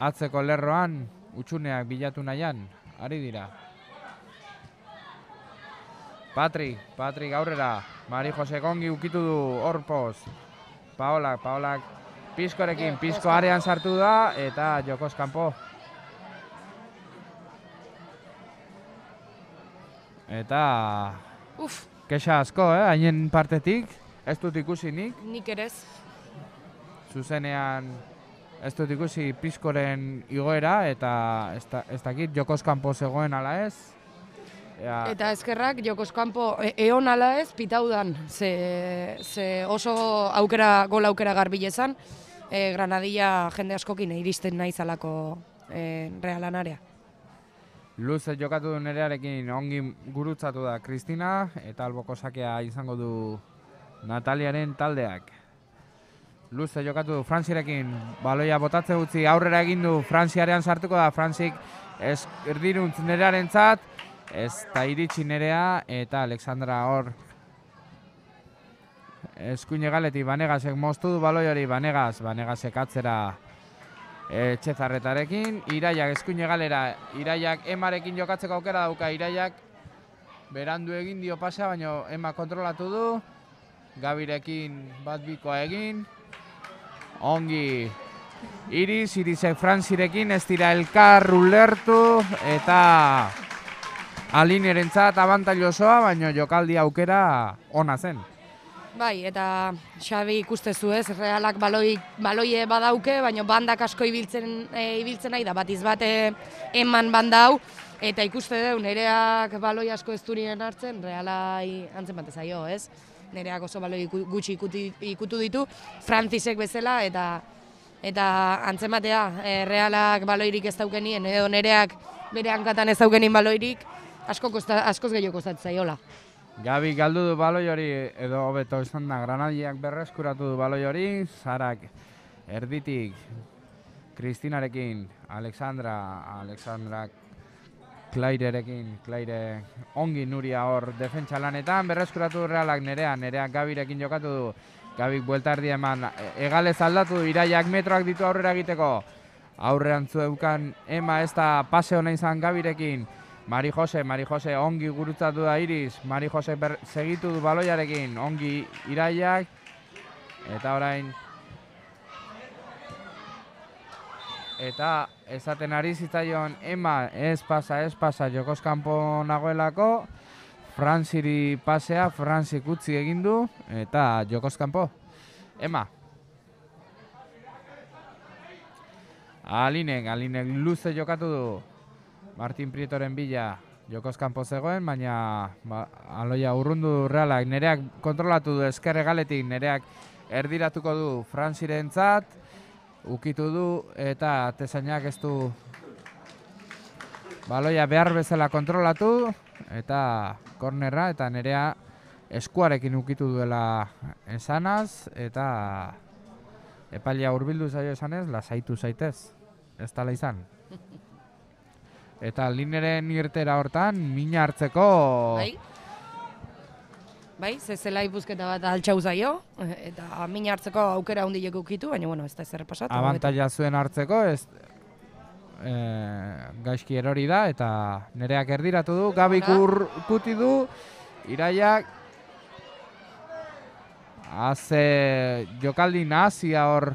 atzeko lerroan utxuneak bilatu nahian, ari dira. Patrik, Patrik aurrera, Mari Jose Gongi ukitu du Orpoz. Paolak, Paolak Pizkorekin, Pizko arean sartu da eta jokoz kanpo. Eta
Uf,
kexa asko, eh, hainen partetik, ez dut ikusi nik.
nik ere ez.
Zuzenean ez dut ikusi Pizkoren igoera eta ez, da, ez dakit jokoz kanpo zegoen ala ez. Ea,
Eta ezkerrak jokoz kanpo e eon ala ez pitaudan, ze, ze oso aukera, gol aukera garbilezan, e, Granadilla jende askokin iristen nahi zalako e, Realan area.
luze jokatu du Nerearekin ongi gurutzatu da Kristina eta alboko sakea izango du Nataliaren taldeak. Luze jokatu du Frantzirekin, baloia botatze utzi aurrera egin du, Frantziarean sartuko da, Frantzik ez erdiruntz Nerearen zat, ez da iritsi Nerea eta Alexandra hor eskuin egaletik Banegasek moztu du baloi hori, Banegas, Banegasek atzera Etxezarretarekin, Iraiak eskuin egalera, Iraiak Emarekin jokatzeko aukera dauka, Iraiak berandu egin dio pasa, baina Ema kontrolatu du, Gabirekin bat bikoa egin, ongi Iris, Irisek Frantzirekin ez dira elkar ulertu eta Alinerentzat abantailo osoa, baina jokaldi aukera ona zen.
Bai, eta Xabi ikustezu ez, Realak baloi, baloie badauke, baina bandak asko ibiltzen, e, ibiltzen nahi da, batiz bate eman banda hau, eta ikuste deu, Nereak baloi asko ez durien hartzen, Realai antzen bat zaio, ez? Nereak oso baloi gutxi ikuti, ikutu ditu, Frantzisek bezala, eta eta antzematea, e, Realak baloirik ez daukenien, edo Nereak bere hankatan ez daukenin baloirik, asko kosta, askoz gehiago kostatzen zaiola.
Gabi galdu du baloi hori, edo hobeto izan da, Granadiak berreskuratu du baloi hori, Sarak erditik, Kristinarekin, Alexandra, Alexandra Klairerekin, Klaire ongi Nuria hor defentsa lanetan, berreskuratu du Realak Nerea, Nereak Gabirekin jokatu du, Gabik buelta erdi eman, egalez aldatu du, Iraiak metroak ditu aurrera egiteko, aurrean zueukan Ema ez da pase hona izan Gabirekin, Mari Jose, Mari Jose ongi gurutzatu da Iris, Mari Jose segitu du baloiarekin, ongi Iraiak, eta orain, eta esaten ari zitzaion Ema ez pasa, ez pasa, jokoz kanpo nagoelako, Frantziri pasea, Frantzik utzi egin du, eta jokoz kanpo, Ema. Alinek, Alinek luze jokatu du, Martin Prietoren bila jokoz kanpo zegoen, baina ba, aloia urrundu du Realak, Nereak kontrolatu du ezkerre galetik, Nereak erdiratuko du Frantzirentzat, ukitu du eta Tesainak ez du baloia behar bezala kontrolatu eta kornerra eta Nerea eskuarekin ukitu duela esanaz eta epailea hurbildu zaio esanez, lasaitu zaitez, ez tala izan. Eta lineren irtera hortan, mina hartzeko...
Bai, bai, ze zelai buzketa bat altxau zaio, eta mina hartzeko aukera handiek ukitu, baina bueno, ez da ezer pasatu.
Abantaila zuen hartzeko, ez e, gaizki erori da, eta Nereak erdiratu du, Gabik urkuti du, Iraiak haze jokaldi nahazia hor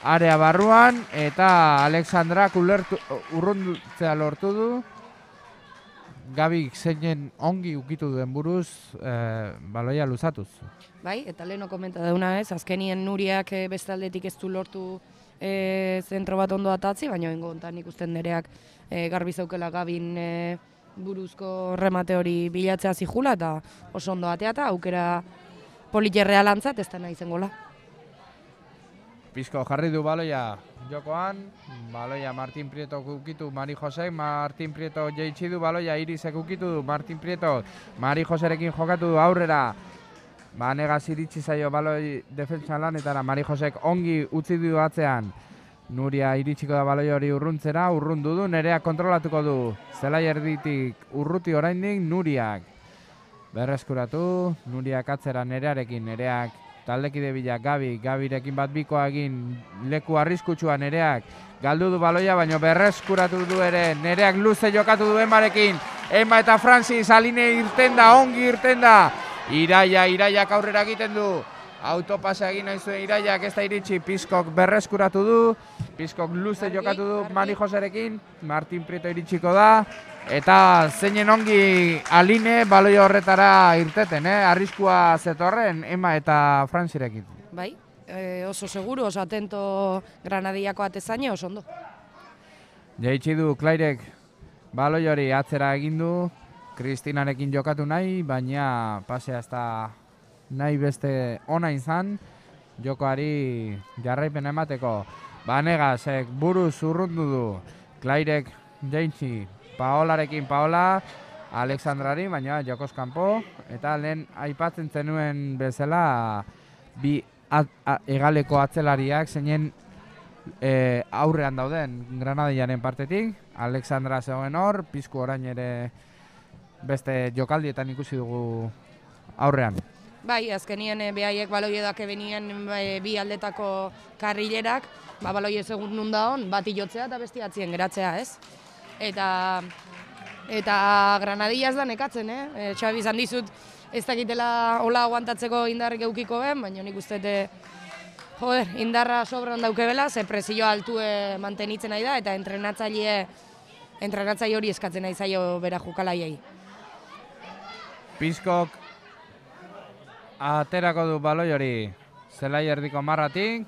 area barruan, eta Alexandrak urruntzea lortu du, Gabik zeinen ongi ukitu duen buruz e, baloia luzatuz.
Bai, eta leheno komenta dauna ez, azkenien Nuriak e, bestaldetik ez du lortu e, zentro bat ondo atatzi, baina ingo ontan ikusten Nereak e, garbi zaukela Gabin e, buruzko remate hori bilatzea zihula, eta oso ondo atea eta aukera politxerrea lantzat ez da nahi zengola.
Pizko jarri du baloia jokoan, baloia Martin Prieto ukitu Mari Josek, Martin Prieto jeitsi du baloia Irisek ukitu du, Martin Prieto Mari Joserekin jokatu du aurrera, Banegaz iritsi zaio baloi defentsa lanetara, Mari Josek ongi utzi du atzean, Nuria iritsiko da baloi hori urruntzera, urrundu du, Nereak kontrolatuko du, zelai erditik urruti oraindik Nuriak, berreskuratu, Nuriak atzera Nerearekin, Nereak taldekide bila Gabi, Gabirekin bat bikoa egin leku arriskutsua Nereak, galdu du baloia, baina berreskuratu du ere, Nereak luze jokatu du Emarekin, Ema eta Francis Aline irten da, ongi irten da, Iraia, Iraiak aurrera egiten du, autopasa egin nahi zuen Iraiak ez da iritsi, Pizkok berreskuratu du, Pizkok luze jokatu du Mari Joserekin, Martin Prieto iritsiko da, eta zeinen ongi Aline baloi horretara irteten, eh? Arriskua zetorren Ema eta Frantzirekin.
Bai, e, oso seguru, oso atento Granadiako atezaine, oso ondo.
Jaitsi du Klairek baloi hori atzera egin du, Kristinarekin jokatu nahi, baina pasea ez da nahi beste ona izan, jokoari jarraipena emateko. Banegazek buruz urrundu du, Klairek jaitsi, Paolarekin Paola, Alexandrari, baina jokoz kanpo, eta lehen aipatzen zenuen bezala bi at, a, egaleko atzelariak zeinen e, aurrean dauden Granadillaren partetik, Alexandra zegoen hor, Pizku orain ere beste jokaldietan ikusi dugu aurrean.
Bai, azkenien e, behaiek baloiedak ebenien e, bi aldetako karrilerak, ba, baloie segun nunda hon, bat ilotzea eta besti atzien geratzea, ez? Eta eta Granadilla ez da nekatzen, eh? E, Xabi izan dizut ez dakitela hola aguantatzeko indarrik eukiko ben, baina nik uste joder, indarra sobran daukebela, ze presio altue mantenitzen nahi da, eta entrenatzaile entrenatzaile hori eskatzen nahi zaio bera jokalaiei.
Pizkok aterako du baloi hori zelai erdiko marratik,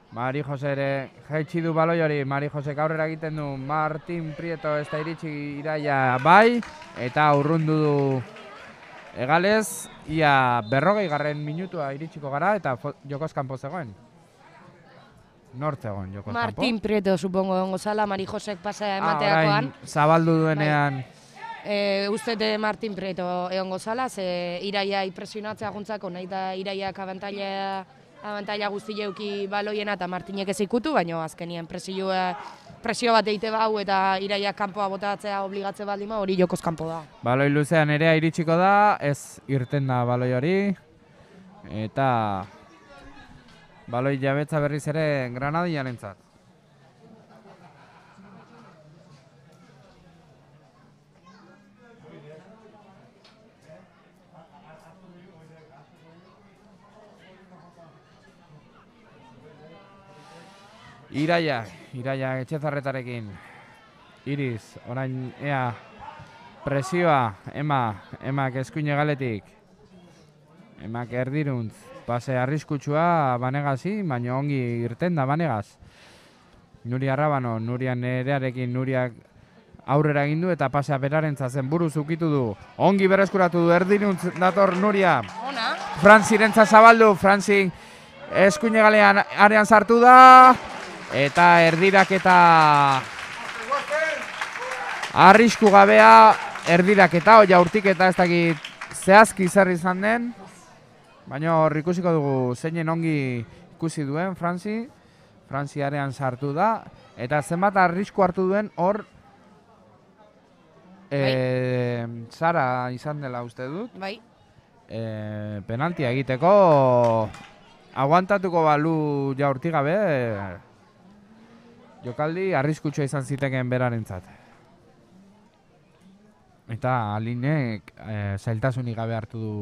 Mari Jose ere jaitsi du baloi hori, Mari Jose aurrera egiten du, Martin Prieto ez da iritsi Iraia bai, eta urrundu du egalez, ia berrogei garren minutua iritsiko gara, eta jokoz kanpo zegoen. Nort zegoen jokoz kanpo?
Martin Prieto, supongo, dongo zala, Mari Josek pasea emateakoan.
Ah, zabaldu duenean,
E, Ustete Martin Prieto egongo zala, ze iraia impresionatzea guntzako, nahi da iraiak abantaila, abantaila guzti jeuki baloiena eta Martinek ez ikutu, baina azkenien presioa, presio bat eite bau eta iraiak kanpoa botatzea obligatze baldima, hori jokoz kanpo da.
Baloi luzean ere iritsiko da, ez irten da baloi hori, eta baloi jabetza berriz ere Granadiarentzat. Iraia, Iraia Etxezarretarekin. Iriz, orain ea presioa, ema, emak eskuine galetik. Emak erdiruntz, pase arriskutsua Banegazi, baina ongi irten da Banegaz. Nuria Rabano, Nuria nerearekin, Nuriak aurrera egin du eta pasea berarentza zen buruz ukitu du. Ongi berreskuratu du, erdiruntz dator Nuria.
Ona.
Franzirentza zabaldu, Franzi eskuine galean arean sartu da. Eta erdirak eta arrisku gabea erdirak eta oia urtik eta ez dakit zehazki zer izan den. Baina hor ikusiko dugu zeinen ongi ikusi duen Franzi. Franzi arean sartu da. Eta zenbat arrisku hartu duen hor e, Sara izan dela uste dut.
Bai.
E, penaltia egiteko aguantatuko balu ja urtik gabe. Jokaldi arriskutsua izan ziteken berarentzat. Eta Alinek e, zailtasunik gabe hartu du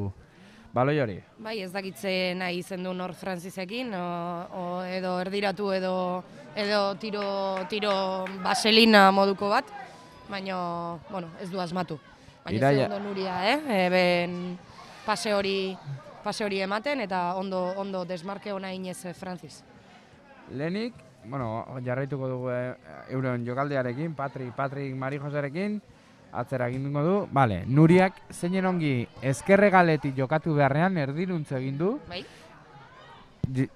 baloi hori.
Bai, ez dakitzen nahi izen du nor Frantzisekin, o, o edo erdiratu edo edo tiro, tiro baselina moduko bat, baina bueno, ez du asmatu. Baina
Iraia.
ez ondo Nuria, eh? Eben pase hori, pase hori ematen eta ondo, ondo desmarke ona inez Frantziz.
Lehenik, bueno, jarraituko dugu e, euren jokaldiarekin, Patrik, Patrik Mari Joserekin, atzera egin dugu du. Vale, Nuriak zeinen ongi ezkerregaletik jokatu beharrean erdiruntze egin du.
Bai.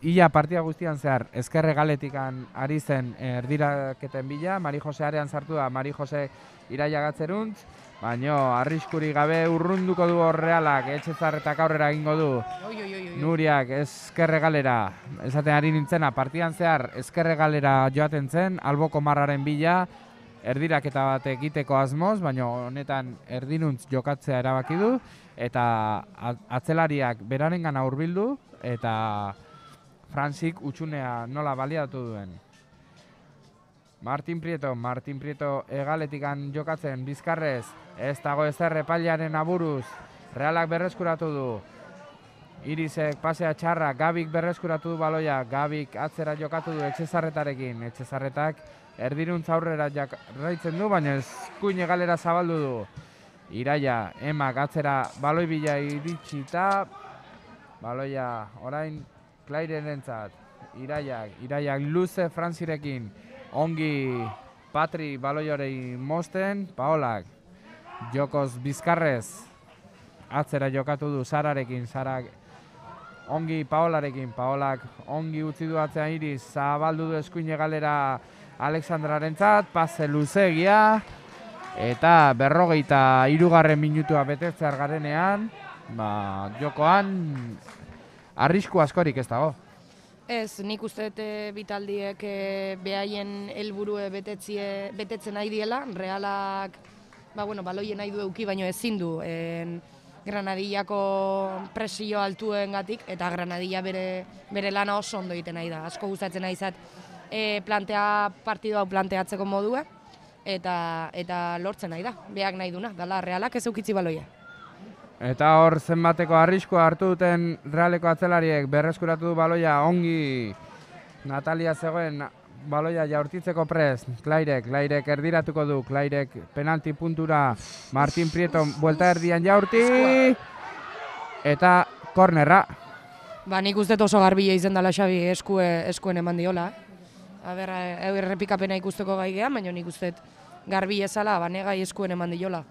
Ia partida guztian zehar ezkerregaletik ari zen erdiraketen bila, Mari Jose arean sartu da, Mari Jose Iraia gatzeruntz, baina arriskuri gabe urrunduko du Realak, Etxezarretak aurrera egingo du.
Oi, oi, oi, oi.
Nuriak ezkerregalera, esaten ari nintzena, partidan zehar ezkerregalera joaten zen, alboko marraren bila, erdiraketa bat egiteko asmoz, baina honetan erdinuntz jokatzea erabaki du, eta atzelariak berarengana hurbildu, eta Frantzik utxunea nola baliatu duen. Martin Prieto, Martin Prieto egaletikan jokatzen bizkarrez, ez dago ezer epailaren aburuz, Realak berreskuratu du. Irisek pasea txarra, Gabik berreskuratu du baloia, Gabik atzera jokatu du Etxezarretarekin, Etxezarretak erdiruntz aurrera jarraitzen du, baina eskuin egalera zabaldu du. Iraia, emak atzera baloi bila iritsita, baloia orain Klairerentzat. Iraiak, Iraiak luze Frantzirekin, ongi Patri baloi hori mosten, Paolak, jokoz bizkarrez, atzera jokatu du Sararekin, Sarak ongi Paolarekin, Paolak ongi utzi du atzean Iris, zabaldu du eskuin egalera Alexandrarentzat, pase luzegia, eta berrogeita hirugarren minutua betetzear garenean, ba, jokoan arrisku askorik ez dago.
Ez, nik uste dut bitaldiek e, behaien helburue betetzie, betetzen nahi diela, Realak ba, bueno, baloien nahi du euki, baino ezin du en, Granadillako presio altuengatik, eta Granadilla bere, bere lana oso ondo egiten nahi da. Asko gustatzen nahi zat e, plantea, partidu hau planteatzeko modua, eta, eta lortzen nahi da, beak nahi duna, dala Realak ez eukitzi baloia.
Eta hor zenbateko arriskoa hartu duten Realeko atzelariek berreskuratu du baloia ongi Natalia zegoen baloia jaurtitzeko prest, Klairek, Klairek erdiratuko du, Klairek penalti puntura, Martin Prieto buelta erdian jaurti, eta kornerra.
Ba, nik uste oso garbila izen dela Xabi eskue, eskuen eman diola. Aber, errepikapena ikusteko gai gehan, baina nik uste garbi ezala, Banegai eskuen eman diola.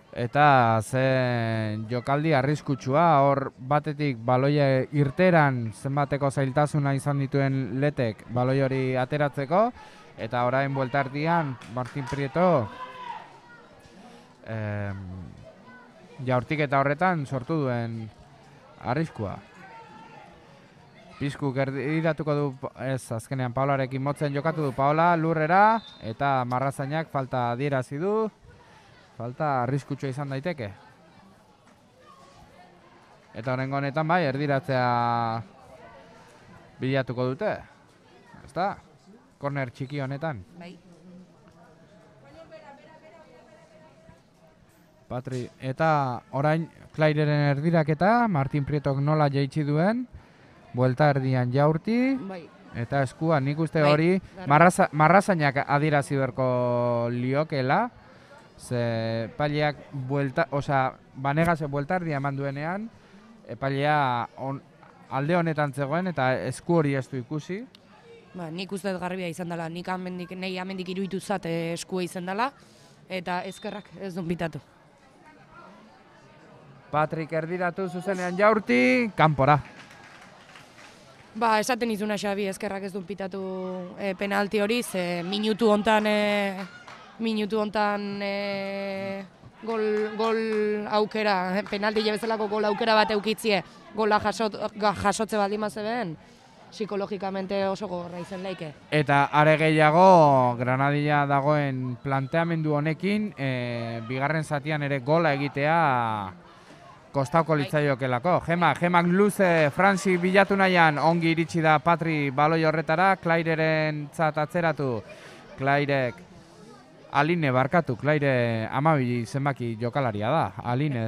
Eta ze jokaldi arriskutsua, hor batetik baloia irteran zenbateko zailtasuna izan dituen Letek baloi hori ateratzeko, eta orain buelta erdian Martin Prieto em, jaurtiketa horretan sortu duen arriskua. Piskuk erdiratuko du, ez, azkenean Paolarekin motzen jokatu du Paola lurrera, eta Marrazainak falta adierazi du, falta arriskutsua izan daiteke. Eta horrengo honetan bai, erdiratzea bilatuko dute, ezta? Korner txiki honetan.
Bai.
Patri, eta orain Claireren erdiraketa, Martin Prietok nola jaitsi duen, buelta erdian Jaurti,
Bai.
eta eskua nik uste
Bai,
hori
gara.
marraza, marrazainak adierazi beharko liokela, ze epaileak buelta, osea, Banegase buelta erdia eman duenean, epailea on, alde honetan zegoen eta esku hori ez du ikusi.
Ba, nik uste dut garbia izan dela, nik amendik, nahi amendik iruditu zat eh, eskua izan dela, eta ezkerrak ez duen bitatu.
Patrik erdiratu zuzenean Jaurti, kanpora.
Ba, esaten izuna Xabi, ezkerrak ez duen pitatu eh, penalti hori, ze minutu hontan, eh, minutu hontan eh, gol, gol aukera, eh, penalti jabezalako gol aukera bat eukitzie, gola jasot, ga- jasotze baldin mazeben, psikologikamente oso gogorra izan laike.
Eta are gehiago Granadilla dagoen planteamendu honekin, e, bigarren zatian ere gola egitea kostauko litzaiokelako. Gema, gemak luze Franzi bilatu nahian ongi iritsi da Patri baloi horretara, Claireren zat atzeratu, Clairek, Aline barkatu, Claire amabi zenbaki jokalaria da, Aline.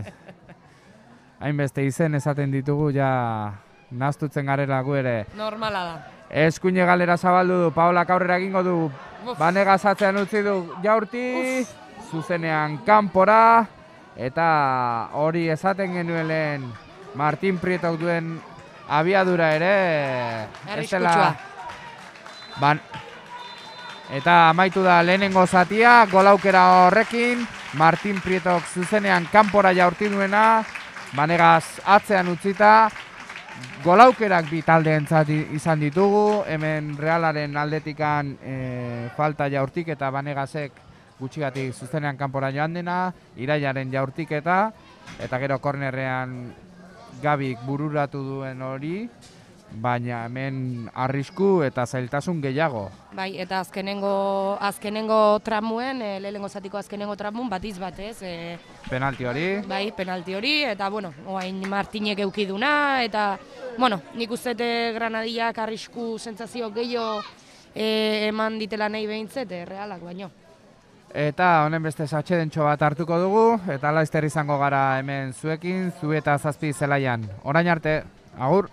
Hainbeste izen esaten ditugu ja nahaztutzen garela gu ere.
Normala da.
Eskuine galera zabaldu du, Paolak aurrera egingo du,
Uf.
Banegaz atzean utzi du Jaurti, zuzenean kanpora, eta hori esaten genuen lehen Martin Prietok duen abiadura ere, ez dela-
Arriskutsua.
Ban, eta amaitu da lehenengo zatia, golaukera horrekin, Martin Prietok zuzenean kanpora Jaurti duena, Banegaz atzean utzita, golaukerak bi taldeentzat izan ditugu, hemen Realaren aldetikan e, falta Jaurtik eta Banegazek gutxigatik zuzenean kanpora joan dena, Iraiaren jaurtiketa, eta gero kornerrean Gabik bururatu duen hori, baina hemen arrisku eta zailtasun gehiago.
Bai, eta azkenengo, azkenengo tramuen, e, lehenengo zatiko azkenengo tramun batiz bat, ez? E,
Penalti hori,
bai, penalti hori, eta, bueno, oain Martinek eukiduna, eta, bueno, nik uste dut Granadillak arrisku sentsazio gehiago e, eman ditela nahi behintzet, e, Realak baino.
eta honen beste atsedentxo bat hartuko dugu, eta laizter izango gara hemen zuekin, zu eta zazpi zelaian. Orain arte, agur!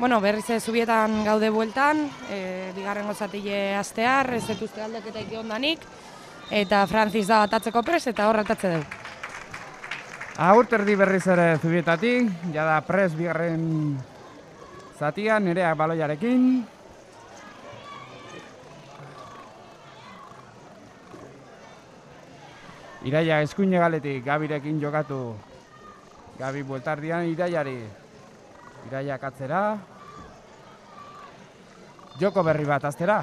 Bueno, berriz ez Zubietan gaude bueltan, e, bigarrengo zatile astear, ez dituzte aldaketa iki ondanik, eta Francis da atatzeko pres, eta hor atatze dugu.
Agurt erdi berriz ere Zubietatik, jada pres bigarren zatian, Nereak baloiarekin. Iraia eskuine galetik, Gabirekin jokatu. Gabi bueltardian Iraiari. Iraiak atzera. Joko berri bat aztera.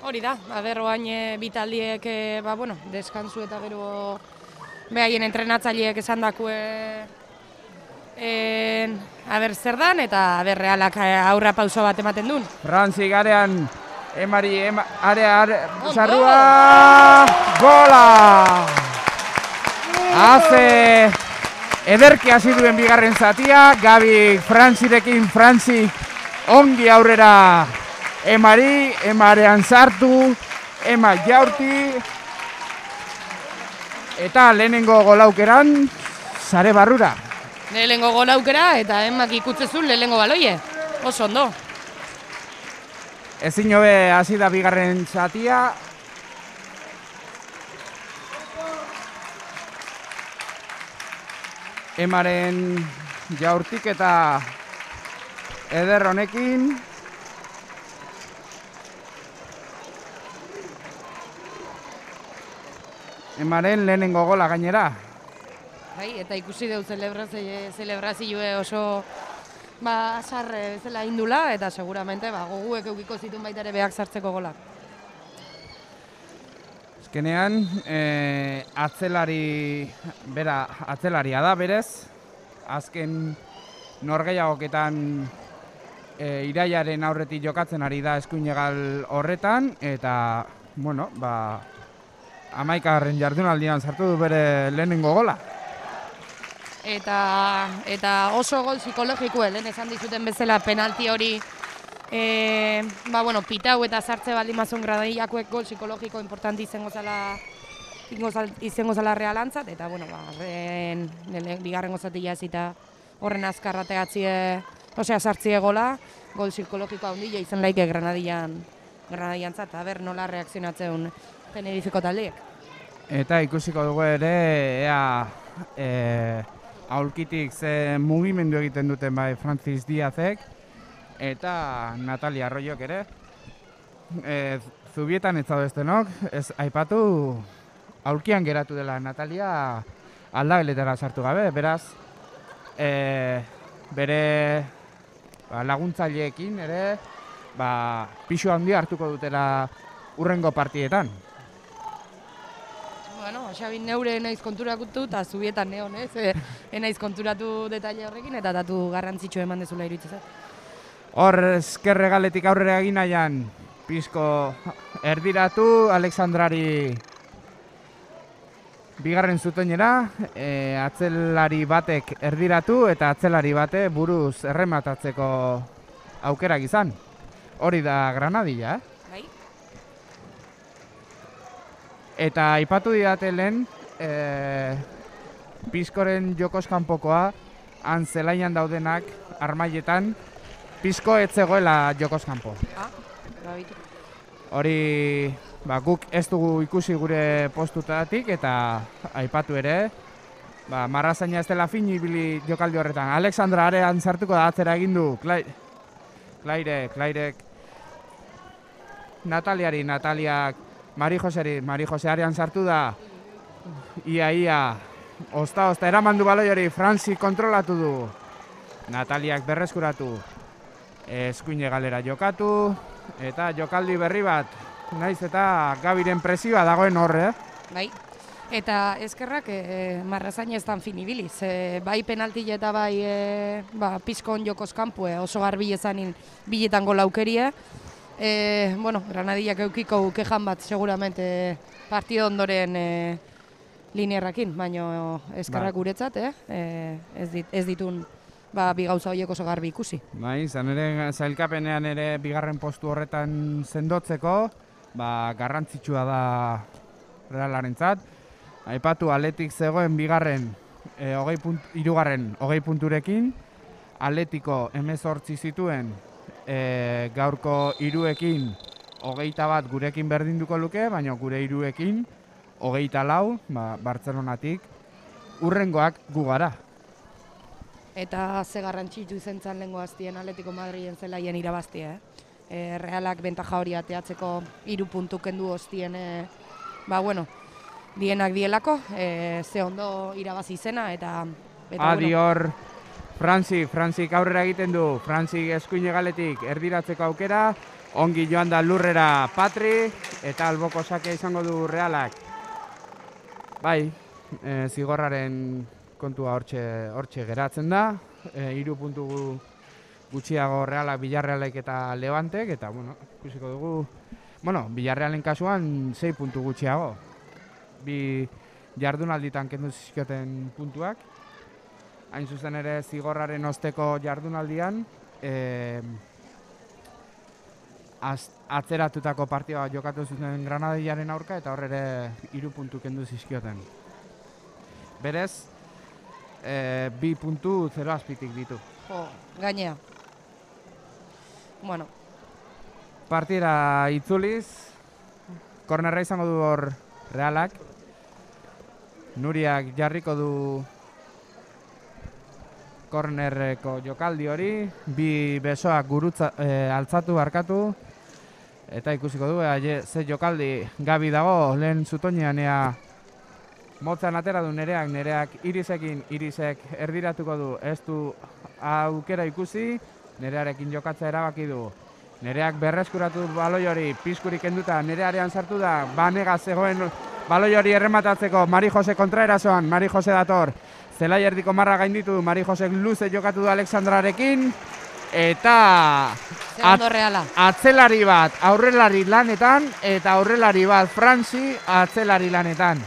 Hori da, aber oain e, bitaldiek, e, ba, bueno, deskansu eta gero behaien entrenatzaileek esan dakue e, aber zer dan, eta aber realak aurra pauso bat ematen duen.
Frantzi garean, Emari, ema, area, area, sarrua, gola! Haze ederki hasi duen bigarren zatia, Gabi Frantzirekin, Frantzi ongi aurrera Emari, Emarean sartu, Ema jaurti, eta lehenengo golaukeran, sare barrura.
Lehenengo golaukera eta Emak ikutzezun lehenengo baloie, oso ondo.
Ezin hobe hasi da bigarren zatia. Emaren jaurtik eta eder honekin. Emaren lehenengo gola gainera.
Bai, eta ikusi dugu zelebrazioe oso ba, sarre bezala indula, eta seguramente ba, goguek eukiko zituen baita ere behak sartzeko golak.
Azkenean, e, atzelari, bera, atzelaria da berez, azken norgehiagoketan e, Iraiaren aurretik jokatzen ari da eskuinegal horretan, eta, bueno, ba, hamaikagarren jardunaldian sartu du bere lehenengo gola.
Eta, eta oso gol psikologikoa, lehen esan dizuten bezala penalti hori e, ba, bueno, pitau eta sartze baldin mazun gradaiakoek gol psikologiko importanti izango zala, izango zala realantzat, eta bueno, ba, ben, bigarren gozatila ezita horren azkarrategatzie, osea sartzie gola, gol psikologikoa ondila izan laike Granadian, Granadiantzat, eta ber nola reakzionatzen Tenerifeko taldeek. Eta
ikusiko dugu ere, ea e, aulkitik ze mugimendu egiten duten bai Francis Diazek eta Natalia Arroyok ere. E, Zubietan ez zaudeztenok, ez aipatu aulkian geratu dela Natalia aldageletara sartu gabe, beraz e, bere ba, laguntzaileekin ere ba, pisu handia hartuko dutela urrengo partietan.
Bueno, Xabi neure naiz konturatu eta Zubietan neon, ez? E, naiz konturatu detaile horrekin eta datu garrantzitsu eman dezula iruditzen zait.
Hor eskerre galetik aurrera egin nahian, pizko erdiratu Alexandrari bigarren zutoinera, e, atzelari batek erdiratu eta atzelari bate buruz errematatzeko aukerak izan. Hori da Granadilla, eh?
Bai.
Eta aipatu didate lehen, e, Pizkoren jokoz kanpokoa, han zelaian daudenak, armailetan, Pizko ez zegoela jokoz kanpo.
Ah, babitu.
Hori, ba, guk ez dugu ikusi gure postutatik eta aipatu ere, ba, marrazaina ez dela fin ibili jokaldi horretan. Alexandra arean sartuko da atzera egin du, Klaire, Klairek, Nataliari, Nataliak, Mari Joseri, Mari Jose arean sartu da, ia, ia, osta, osta, eraman du baloi hori, Franzi kontrolatu du, Nataliak berreskuratu, eskuine galera jokatu, eta jokaldi berri bat, naiz eta Gabiren presioa dagoen horre.
Bai, eta eskerrak e, marrazaina ez dan fin ibiliz, e, bai penalti eta bai e, ba, Pizkon jokoz kanpue oso garbi ezanin biletan gola aukerie. E, bueno, Granadillak eukiko kejan bat seguramente partido ondoren e, linearrakin, baina eskerrak guretzat, eh? e, ez, dit, ez ditun ba, bi gauza horiek oso garbi ikusi.
Bai, izan ere zailkapenean ere bigarren postu horretan sendotzeko, ba, garrantzitsua da Realarentzat. Aipatu Atletik zegoen bigarren, e, hogei punt, irugarren hogei punturekin, Atletico hemezortzi zituen, e, gaurko hiruekin hogeita bat gurekin berdinduko luke, baina gure hiruekin hogeita lau, ba, Bartzelonatik, urrengoak gu gara.
Eta ze garrantzitsu izan zen lehengo hastien Atletico Madrilen zelaien irabaztia, eh? E, Realak bentaja hori ateatzeko hiru puntu kendu hostien, e, ba bueno, dienak dielako, e, ze ondo irabazi izena eta... eta
Adi
bueno.
hor, Frantzik, Frantzik aurrera egiten du, Frantzik eskuine galetik erdiratzeko aukera, ongi joan da lurrera Patri, eta alboko sake izango du Realak. Bai, e, zigorraren kontua hortxe, hortxe geratzen da, e, hiru puntu gutxiago Realak, Villarrealek eta Levantek, eta bueno, ikusiko dugu, bueno, Villarrealen kasuan sei puntu gutxiago. Bi jardunalditan kendu zizkioten puntuak, hain zuzen ere zigorraren osteko jardunaldian, e, az, atzeratutako partida jokatu zuten Granadillaren aurka, eta hor ere hiru puntu kendu zizkioten. Berez, e, bi puntu zero azpitik ditu.
Jo, gainea. Bueno.
Partida itzuliz, kornerra izango du hor Realak. Nuriak jarriko du kornerreko jokaldi hori, bi besoak gurutza, e, altzatu barkatu, eta ikusiko du, e, ze jokaldi Gabi dago, lehen zutoinean ea motzan atera du Nereak, Nereak Irisekin, Irisek erdiratuko du, ez du aukera ikusi, Nerearekin jokatzea erabaki du. Nereak berreskuratu baloi hori, pizkurik kenduta, Nerearean sartu da, Banega zegoen baloi hori errematatzeko, Mari Jose kontraerasoan, Mari Jose dator, zelai erdiko marra gainditu, Mari Josek luze jokatu du Alexandrarekin, eta
Segundo Reala.
Atzelari bat aurrelari lanetan, eta aurrelari bat Frantzi atzelari lanetan.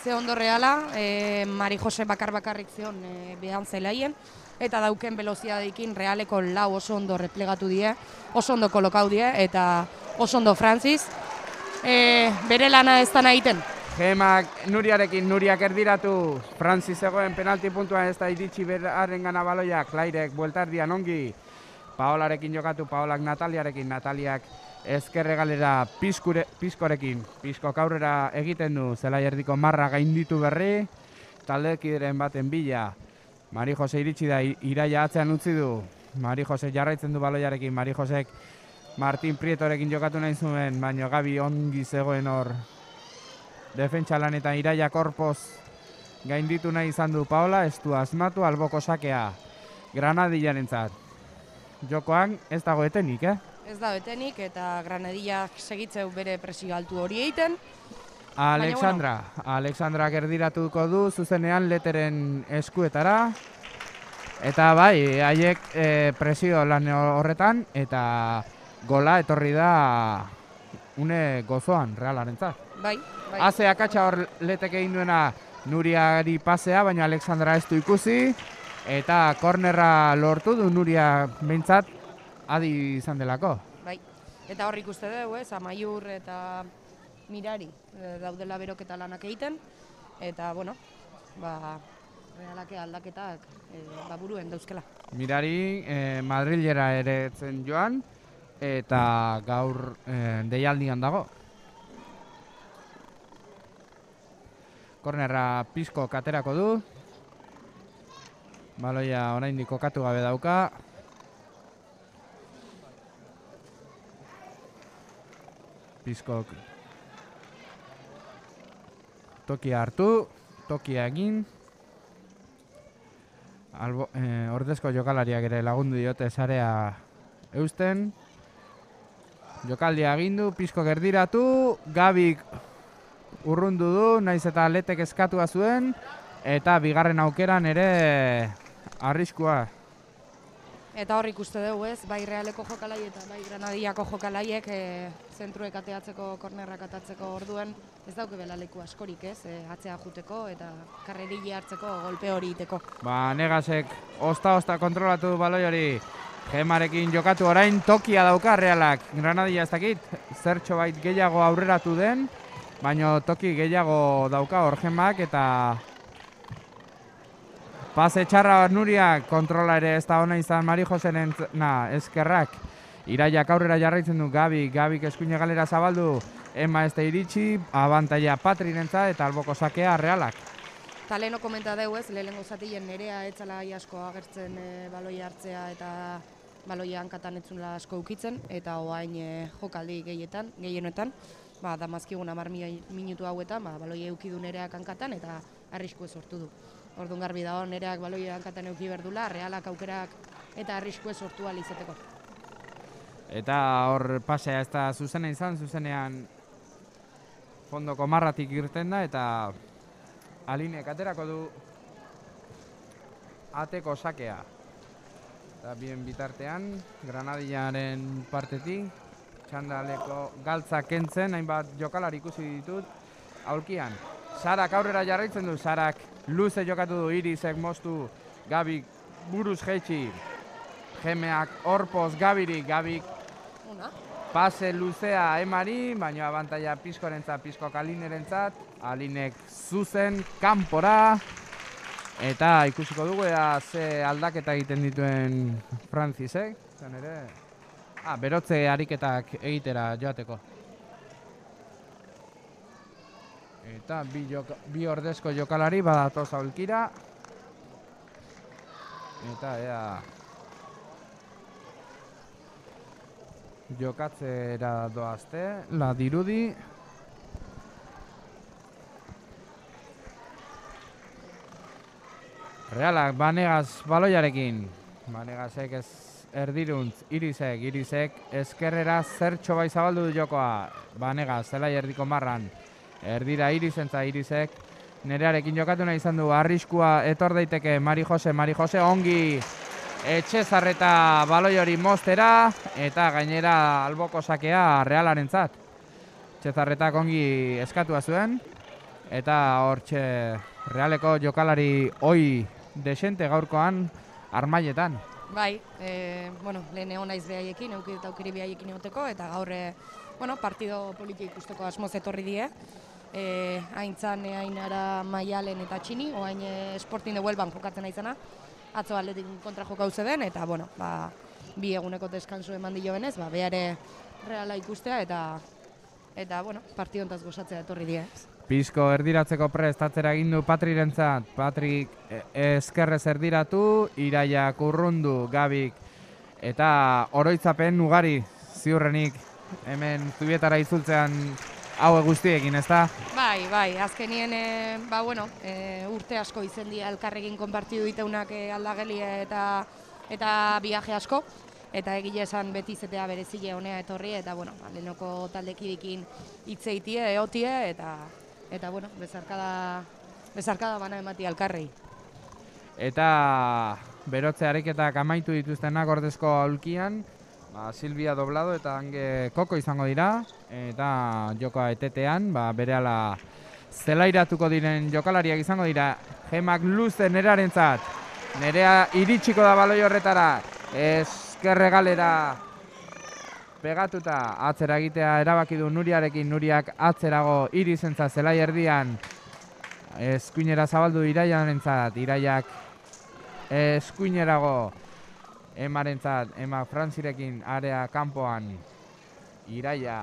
Ze ondo Reala, e, Mari Jose bakar-bakarrik zion e, behan zelaien, eta dauken veloziadekin Realeko lau oso ondo replegatu die, oso ondo kolokau die, eta oso ondo Frantziz. E, bere lana ez da egiten.
Gemak Nuriarekin, Nuriak erdiratu, Frantzi zegoen penalti puntua ez da iritsi beraren gana baloiak, Klairek bueltardian ongi, Paolarekin jokatu, Paolak Nataliarekin, Nataliak ezkerre galera pizkure, pizkorekin, pizkok aurrera egiten du, zelai erdiko marra gainditu berri, taldekideren baten bila, Mari Jose iritsi da, Iraia atzean utzi du, Mari Jose jarraitzen du baloiarekin, Mari Josek Martin Prietorekin jokatu nahi zuen, baina Gabi ongi zegoen hor defentsa lanetan Iraia korpoz gainditu nahi izan du Paola, ez du asmatu alboko sakea Granadillarentzat. Jokoan ez dago etenik, eh?
Ez da etenik eta Granadillak segitzeu bere presio altu hori egiten.
Alexandra, bueno. Alexandra erdiratuko du zuzenean Leteren eskuetara. Eta bai, haiek e, presio lan horretan eta gola etorri da une gozoan Realarentzat.
Bai, bai.
Haze akatsa hor Letek egin duena Nuriari pasea, baina Alexandra ez du ikusi. Eta kornerra lortu du Nuria behintzat adi izan delako.
Bai, eta hor ikuste dugu, ez, Amaiur eta Mirari e, daudela beroketa lanak egiten. Eta, bueno, ba, Realake aldaketak e, ba, buruen dauzkela.
Mirari e, Madrilera ere zen joan, eta gaur e, deialdian dago. Kornerra pizko katerako du. Baloia oraindik kokatu gabe dauka. Pizkok tokia hartu, tokia egin. Albo, eh, ordezko jokalariak ere lagundu diote sarea eusten. Jokaldia agindu, Pizkok erdiratu, Gabik urrundu du, naiz eta Letek eskatua zuen, eta bigarren aukeran ere arriskua.
Eta hor ikuste dugu, ez, bai Realeko jokalai eta bai Granadillako jokalaiek e, zentruek ateatzeko, kornerrak atatzeko orduen, ez dauke belaleku askorik, ez, e, atzea juteko eta karrerili hartzeko golpe hori iteko.
Ba, Negasek osta-osta kontrolatu baloi hori, Gemarekin jokatu orain tokia dauka Realak. Granadilla ez dakit, zertxo bait gehiago aurreratu den, baina toki gehiago dauka hor Gemak eta Pase txarra Nuriak, kontrola ere ez da ona izan Mari Joseren na, eskerrak. Iraiak aurrera jarraitzen du Gabi, Gabik eskuine galera zabaldu, Ema ez da iritsi, abantaia Patrirentzat eta alboko sakea Realak.
Eta leheno komenta dugu ez, lehenengo zatien nerea etzala asko agertzen e, baloi hartzea eta baloia hankatan etzunla asko ukitzen, eta oain e, jokaldi gehietan, gehienoetan, ba, damazkigun hamar minutu hauetan, ba, baloia eukidu nereak hankatan eta arriskue sortu du. Orduan garbi dago nereak baloia hankatan euki berdula, Realak aukerak eta arriskue sortu ahal izateko.
Eta hor pasea ez da zuzena izan, zuzenean fondoko marratik irten da eta Alinek aterako du ateko sakea. Eta bien bitartean, Granadillaren partetik, txandaleko galtza kentzen, hainbat jokalari ikusi ditut, aulkian. Sarak aurrera jarraitzen du, Sarak luze jokatu du, Irisek moztu, Gabik buruz jeitsi, Gemeak horpoz Gabirik, Gabik pase luzea Emari, baina abantaia Pizkorentzat, Pizkok Alinerentzat, Alinek zuzen, kanpora, eta ikusiko dugu ea ze aldaketa egiten dituen Francisek, zen ere, ah, berotze ariketak egitera joateko. Eta bi, joka, bi ordezko jokalari badatoz aulkira, eta ea jokatzera doazte, la dirudi. Realak Banegaz baloiarekin. Banegasek ez erdiruntz, Irisek, Irisek eskerrera zertxo bai zabaldu du jokoa. Banegaz, zelai erdiko marran. Erdira Irisentza, Irisek nerearekin jokatu nahi izan du, arriskua etor daiteke Mari Jose, Mari Jose ongi Etxezarreta baloi hori moztera eta gainera alboko sakea Realarentzat. Etxezarretak ongi eskatua zuen eta hortxe Realeko jokalari oi desente gaurkoan armailetan.
Bai, e, bueno, lehen egon naiz behaiekin, eukir eta aukiri behaiekin egoteko eta gaur e, bueno, partido politik ikusteko asmoz etorri die. E, haintzan Ainara Maialen eta Txini, oain e, Sporting de Huelvan jokatzen aizana. Atzo Atletik kontra jokau zeden, eta bueno, ba, bi eguneko deskansu eman dio benez, ba, behare Reala ikustea eta eta bueno, partiontaz gozatzea etorri die.
Pizko erdiratzeko prestatzera egin du Patrirentzat, Patrik eskerrez erdiratu, Iraiak urrundu, Gabik eta oroitzapen ugari ziurrenik hemen Zubietara izultzean hau guztiekin, ezta?
Bai, bai, azkenien, e, ba, bueno, e, urte asko izen dira elkarrekin konpartidu diteunak e, aldagelia eta eta viaje asko, eta egile esan beti izetea berezile honea etorri, eta, bueno, ba, lehenoko taldekidekin hitzeitie, eotie, eta, eta, bueno, bezarkada, bezarkada bana emati alkarrei.
Eta berotze ariketak amaitu dituztenak ordezko aulkian, ba, Silvia Doblado eta hange Koko izango dira, eta jokoa etetean, ba, berehala zelairatuko diren jokalariak izango dira. Gemak luze nerarentzat, nerea iritsiko da baloi horretara, eskerre galera pegatuta atzera egitea erabaki du Nuriarekin, Nuriak atzerago Irisentza zelai erdian, eskuinera zabaldu Iraiarentzat, Iraiak eskuinerago Emarentzat, Ema Frantzirekin area kanpoan, Iraia,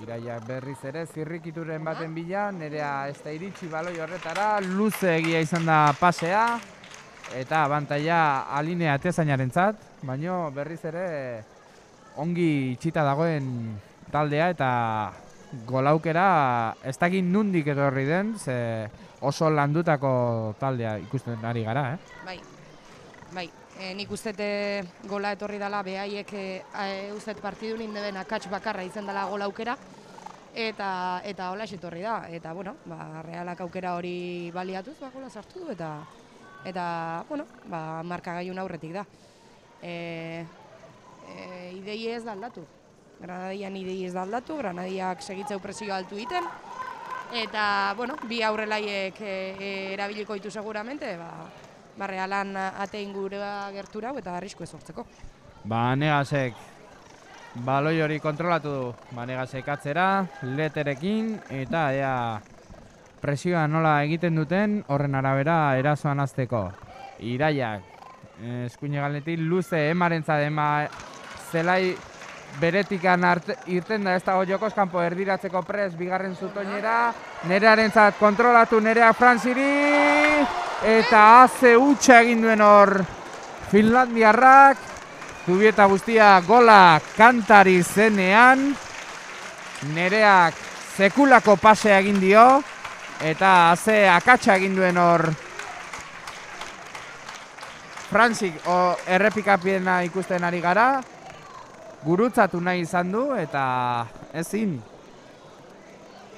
Iraia berriz ere zirrikituren baten bila, nerea ez da iritsi baloi horretara, luze egia izan da pasea, eta abantaia Alinea Atezainarentzat, baino berriz ere ongi itxita dagoen taldea eta golaukera ez dakit nundik etorri den, ze oso landutako taldea ikusten ari gara, eh?
Bai, bai. E, nik ustete gola etorri dela, behaiek e, uzet partidu nindeben akats bakarra izan dela gola aukera, eta eta hola etorri da, eta bueno, ba, Realak aukera hori baliatuz, ba, gola sartu du, eta eta, bueno, ba, markagailun aurretik da. E, e, idei ez da aldatu, Granadian idei ez da aldatu, Granadiak segitzeu presio altu iten, eta, bueno, bi aurrelaiek e, e, erabiliko ditu seguramente, ba, ba, Realan ate ingurua gertura eta arrisku ezortzeko.
Banegasek baloi hori kontrolatu du, Banegasek atzera, leterekin, eta ea presioa nola egiten duten horren arabera erasoan hasteko. Iraiak, eskuine galnetik, luze emarentzat, ema zelai beretikan irten da ez dago jokoz kanpo erdiratzeko pres, bigarren zutoinera, Nerearentzat kontrolatu Nerea Frantziri, eta haze hutsa egin duen hor Finlandiarrak, Zubieta guztia gola kantari zenean, Nereak sekulako pasea egin dio, eta haze akatsa egin duen hor Frantzik errepikapiena ikusten ari gara, gurutzatu nahi izan du eta ezin.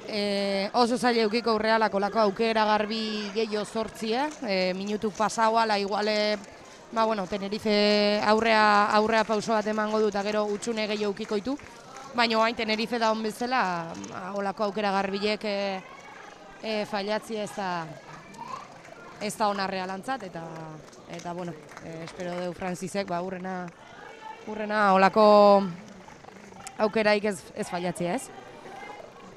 E, oso zaila eukiko Realak olako aukera garbi gehiago zortzia, e, minutu pasau ala iguale, ba bueno, Tenerife aurrea, aurrea pauso bat emango du eta gero utxune gehiago eukiko ditu, baina hain Tenerife da hon bezala, olako aukera garbilek e, e, failatzia ez da, ez da hona Realantzat, eta, eta bueno, e, espero deu Frantzisek, ba, urrena, urrena olako aukeraik ez, ez failatzia ez.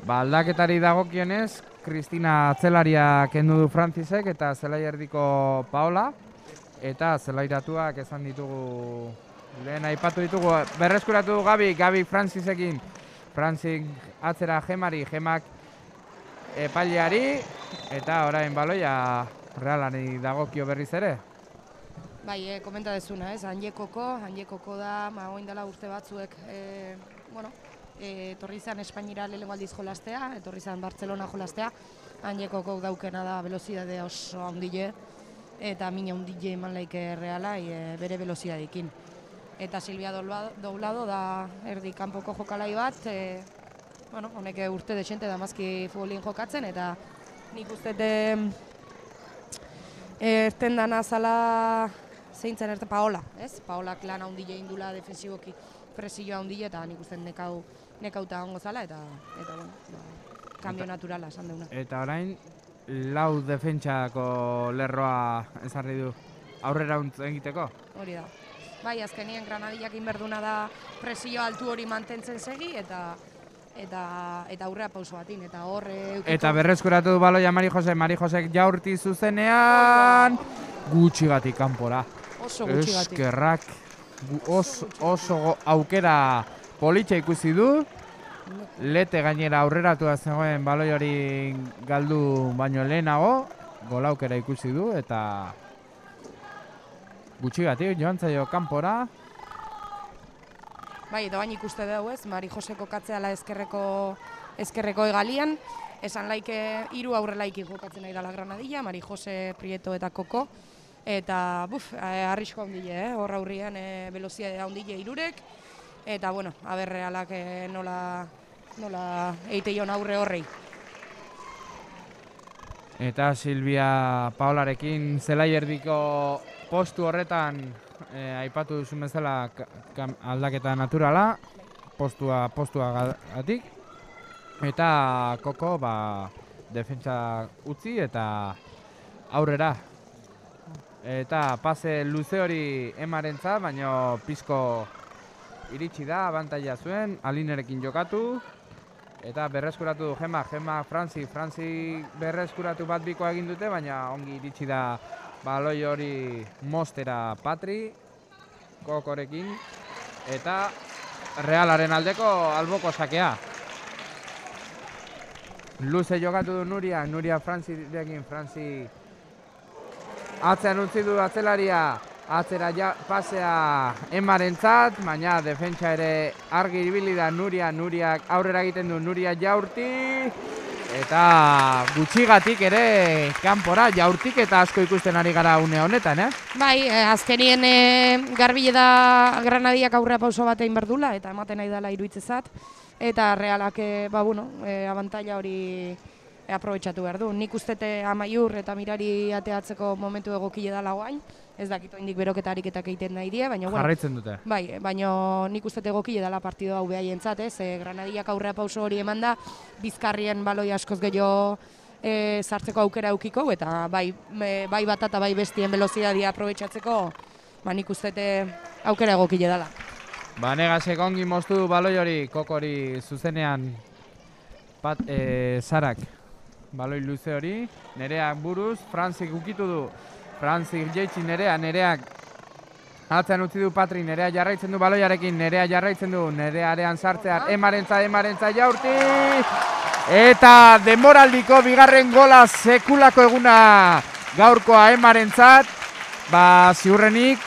Ba, aldaketari dagokionez, Kristina atzelaria kendu du Frantzisek eta zelai erdiko Paola, eta zelairatuak esan ditugu, lehen aipatu ditugu, berreskuratu du Gabi, Gabi Frantzisekin, Frantzik atzera Gemari, Gemak epaileari, eta orain baloia Realari dagokio berriz ere.
Bai, e, komenta dezuna, ez, Handiekoko, Handiekoko da, ma oin dela urte batzuek, e, bueno, e, etorri izan Espainira lehenengo aldiz jolastea, etorri izan Bartzelona jolastea, Handiekoko daukena da velozidade oso handile, eta mina handile eman laike Reala, e, bere velozidadekin. Eta Silvia Doblado da erdi kanpoko jokalai bat, e, bueno, honek urte desente da mazki futbolin jokatzen, eta nik uste erten dana zala zeintzen erte Paola, ez? Paolak lan handile indula defensiboki presioa handile eta nik uste nekau nekauta ongo zala eta eta bueno, ba, kambio naturala esan deuna.
Eta orain lau defentsako lerroa ezarri du aurrera egiteko?
Hori da. Bai, azkenien Granadillak inberduna da presio altu hori mantentzen segi eta eta eta aurrea pauso batin eta hor eukiko. Eta
berreskuratu du baloia Mari Jose, Mari Josek jaurti zuzenean gutxigatik kanpora.
Oso gutxigatik.
Eskerrak oso, oso aukera politxa ikusi du. Lete gainera aurreratu da zegoen baloi hori galdu baino lehenago, gol aukera ikusi du eta gutxigatik joan zaio kanpora.
Bai, eta bain ikuste dugu ez, Mari Jose kokatzeala ezkerreko, ezkerreko egalian, esan laike hiru aurrelaikin jokatzen nahi dela Granadilla, Mari Jose, Prieto eta Koko, eta buf, arrisko handile, eh? Hor aurrian e, velozidade handile hirurek, eta bueno, aber Realak e, nola, nola eiteion aurre horrei.
Eta Silvia Paolarekin zelai erdiko postu horretan E, aipatu duzun bezala aldaketa naturala, postua postua gatik, eta Koko ba, defentsa utzi eta aurrera. Eta pase luze hori Emarentzat, baina pizko iritsi da, abantaila zuen, Alinerekin jokatu, eta berreskuratu du Gema, Gema Frantzi, Frantzi berreskuratu bat bikoa egin dute, baina ongi iritsi da baloi hori Mostera Patri, Kokorekin, eta Realaren aldeko alboko sakea. Luze jokatu du Nuria, Nuria Frantzirekin, Frantzi atzean utzi du atzelaria, atzera ja, pasea Emarentzat, baina defentsa ere argi ibili da Nuria, Nuriak aurrera egiten du, Nuria jaurti, eta gutxigatik ere kanpora jaurtik eta asko ikusten ari gara une honetan, eh?
Bai, eh, azkenien eh, garbile da Granadillak aurrea pauso batein berdula eta ematen nahi dela iruitzezat. Eta Realak, eh, ba, bueno, eh, abantaila hori eh, aprobetxatu behar du. Nik ustete Amaiur eta Mirari ateatzeko momentu egokile dela guain. Ez dakit oindik beroketarik eta egiten nahi die, baina bueno,
jarraitzen dute.
Bai, baina nik ustete egokile dela partido hau behaientzat, ez? E, Granadillak aurrea pauso hori eman da, Bizkarrien baloi askoz gehiago e, sartzeko aukera eukiko, eta bai, me, bai bat eta bai bestien velozidadia aprobetxatzeko, ba nik ustete aukera egokile dela.
Ba, Negasek ongi moztu du baloi hori, Kokori zuzenean pat, e, Zarak baloi luze hori, Nereak buruz, Frantzik ukitu du, Franzik jeitsi Nerea, Nereak atzean utzi du Patri, Nerea jarraitzen du baloiarekin, Nerea jarraitzen du, Nerearean sartzear, Emarentza, Emarentza Jaurti! Eta denboraldiko bigarren gola sekulako eguna gaurkoa Emarentzat, ba ziurrenik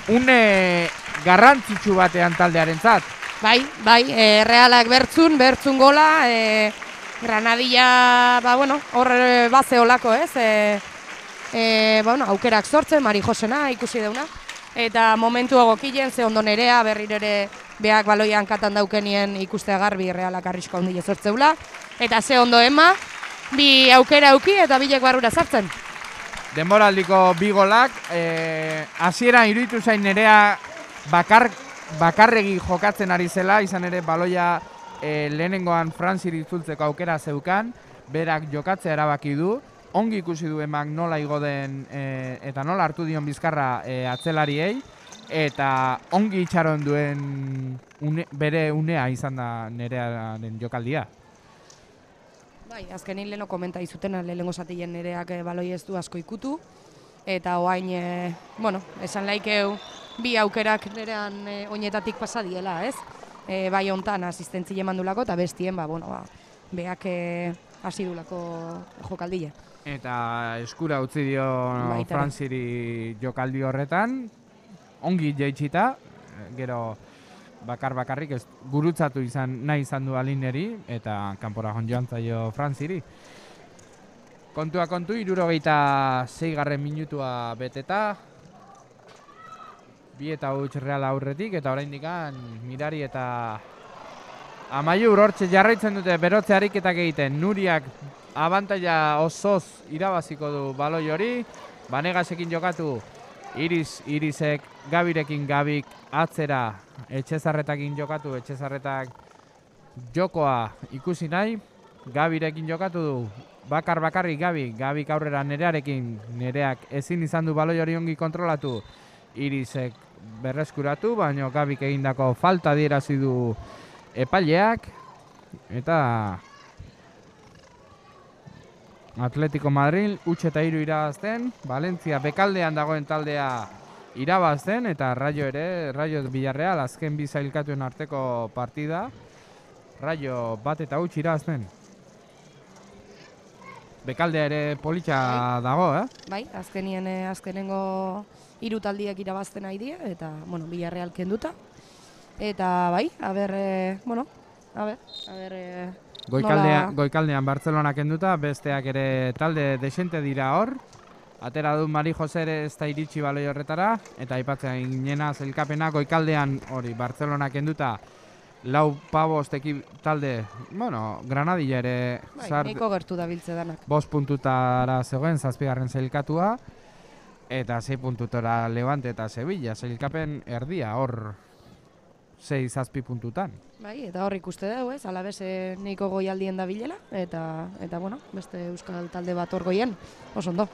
une garrantzitsu batean taldearentzat.
Bai, bai, e, Realak bertzun, bertzun gola, e, Granadilla, ba bueno, hor baze olako, ez? E, e, ba, bueno, aukerak sortzen, Mari Josena ikusi deuna. Eta momentu egokilen, ze ondo Nerea, berriro ere beak baloian katan daukenien ikustea garbi Realak arrisko handile sortzeula. Eta ze ondo Ema, bi aukera auki eta bilek barrura sartzen.
Denboraldiko bi golak, hasieran e, iruditu zain Nerea bakar, bakarregi jokatzen ari zela, izan ere baloia e, lehenengoan Frantziri itzultzeko aukera zeukan, berak jokatzea erabaki du, ongi ikusi du Emak nola igo den e, eta nola hartu dion bizkarra e, atzelariei, eta ongi itxaron duen une, bere unea izan da Nerearen jokaldia.
Bai, azkenin leheno komenta izutena, lehenengo zatien Nereak baloi ez du asko ikutu, eta oain, e, bueno, esan laikeu bi aukerak Nerean e, oinetatik pasa diela, ez? E, bai hontan asistentzi emandulako eta bestien, ba, bueno, ba, beak e, hasi dulako jokaldile.
Eta eskura utzi dio Frantziri jokaldi horretan, ongi jaitsita, gero bakar bakarrik ez gurutzatu izan nahi izan du Alineri eta kanpora joan zaio Frantziri. Kontua kontu, hirurogeita seigarren minutua beteta, bi eta huts Real aurretik eta oraindikan Mirari eta Amaiur hortxe jarraitzen dute berotze ariketak egiten. Nuriak abantaila osoz irabaziko du baloi hori, Banegasekin jokatu, Iris, Irisek, Gabirekin Gabik atzera, Etxezarretakin jokatu, Etxezarretak jokoa ikusi nahi, Gabirekin jokatu du, bakar bakarrik Gabi, Gabik aurrera Nerearekin, Nereak ezin izan du baloi hori ongi kontrolatu, Irisek berreskuratu, baina Gabik egindako falta adierazi du epaileak, eta Atletico Madrid huts eta hiru irabazten, Valencia bekaldean dagoen taldea irabazten, eta Rayo ere, Rayo Villarreal azken bi zailkatuen arteko partida, Rayo bat eta huts irabazten. Bekaldea ere politxa dago, eh?
Bai, azkenien azkenengo hiru taldiak irabazten nahi die, eta, bueno, Villarreal kenduta. Eta, bai, a ber, e, bueno, a ber, a ber... E,
Goikaldean, goikaldean Bartzelona kenduta, besteak ere talde desente dira hor. Atera du Mari Jose ere ez da iritsi baloi horretara, eta aipatzen ginena zelkapena goikaldean hori Bartzelona kenduta, lau pabost ekip talde, bueno, Granadilla ere
bai, nahiko gertu da biltze danak.
Bost puntutara zegoen zazpigarren zelkatua, eta sei puntutara Levante eta Sevilla, zelkapen erdia hor sei zazpi puntutan.
Bai, eta hor ikuste dugu, ez, alabez nahiko goialdien da bilela, eta, eta bueno, beste euskal talde bat hor goien, oso ondo.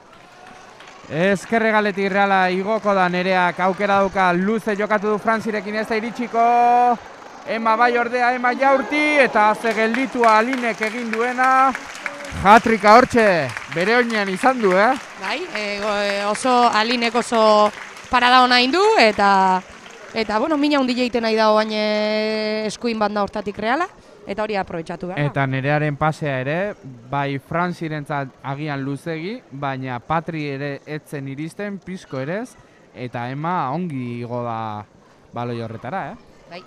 Ezkerregaletik Reala igoko da, Nereak aukera dauka, luze jokatu du Frantzirekin ez da iritsiko, Ema bai ordea, Ema Jaurti, eta ze gelditua Alinek egin duena, hatrika hortxe, bere oinean izan du, eh?
Bai, e, oso Alinek oso parada hona indu, eta Eta, bueno, mina hundi jeiten nahi dago baina eskuin banda hortatik Reala, eta hori aprobetxatu behar.
Eta Nerearen pasea ere, bai Frantzirentzat agian luzegi, baina Patri ere etzen iristen, pizko erez, eta Ema ongi igo da baloi horretara, eh?
Bai,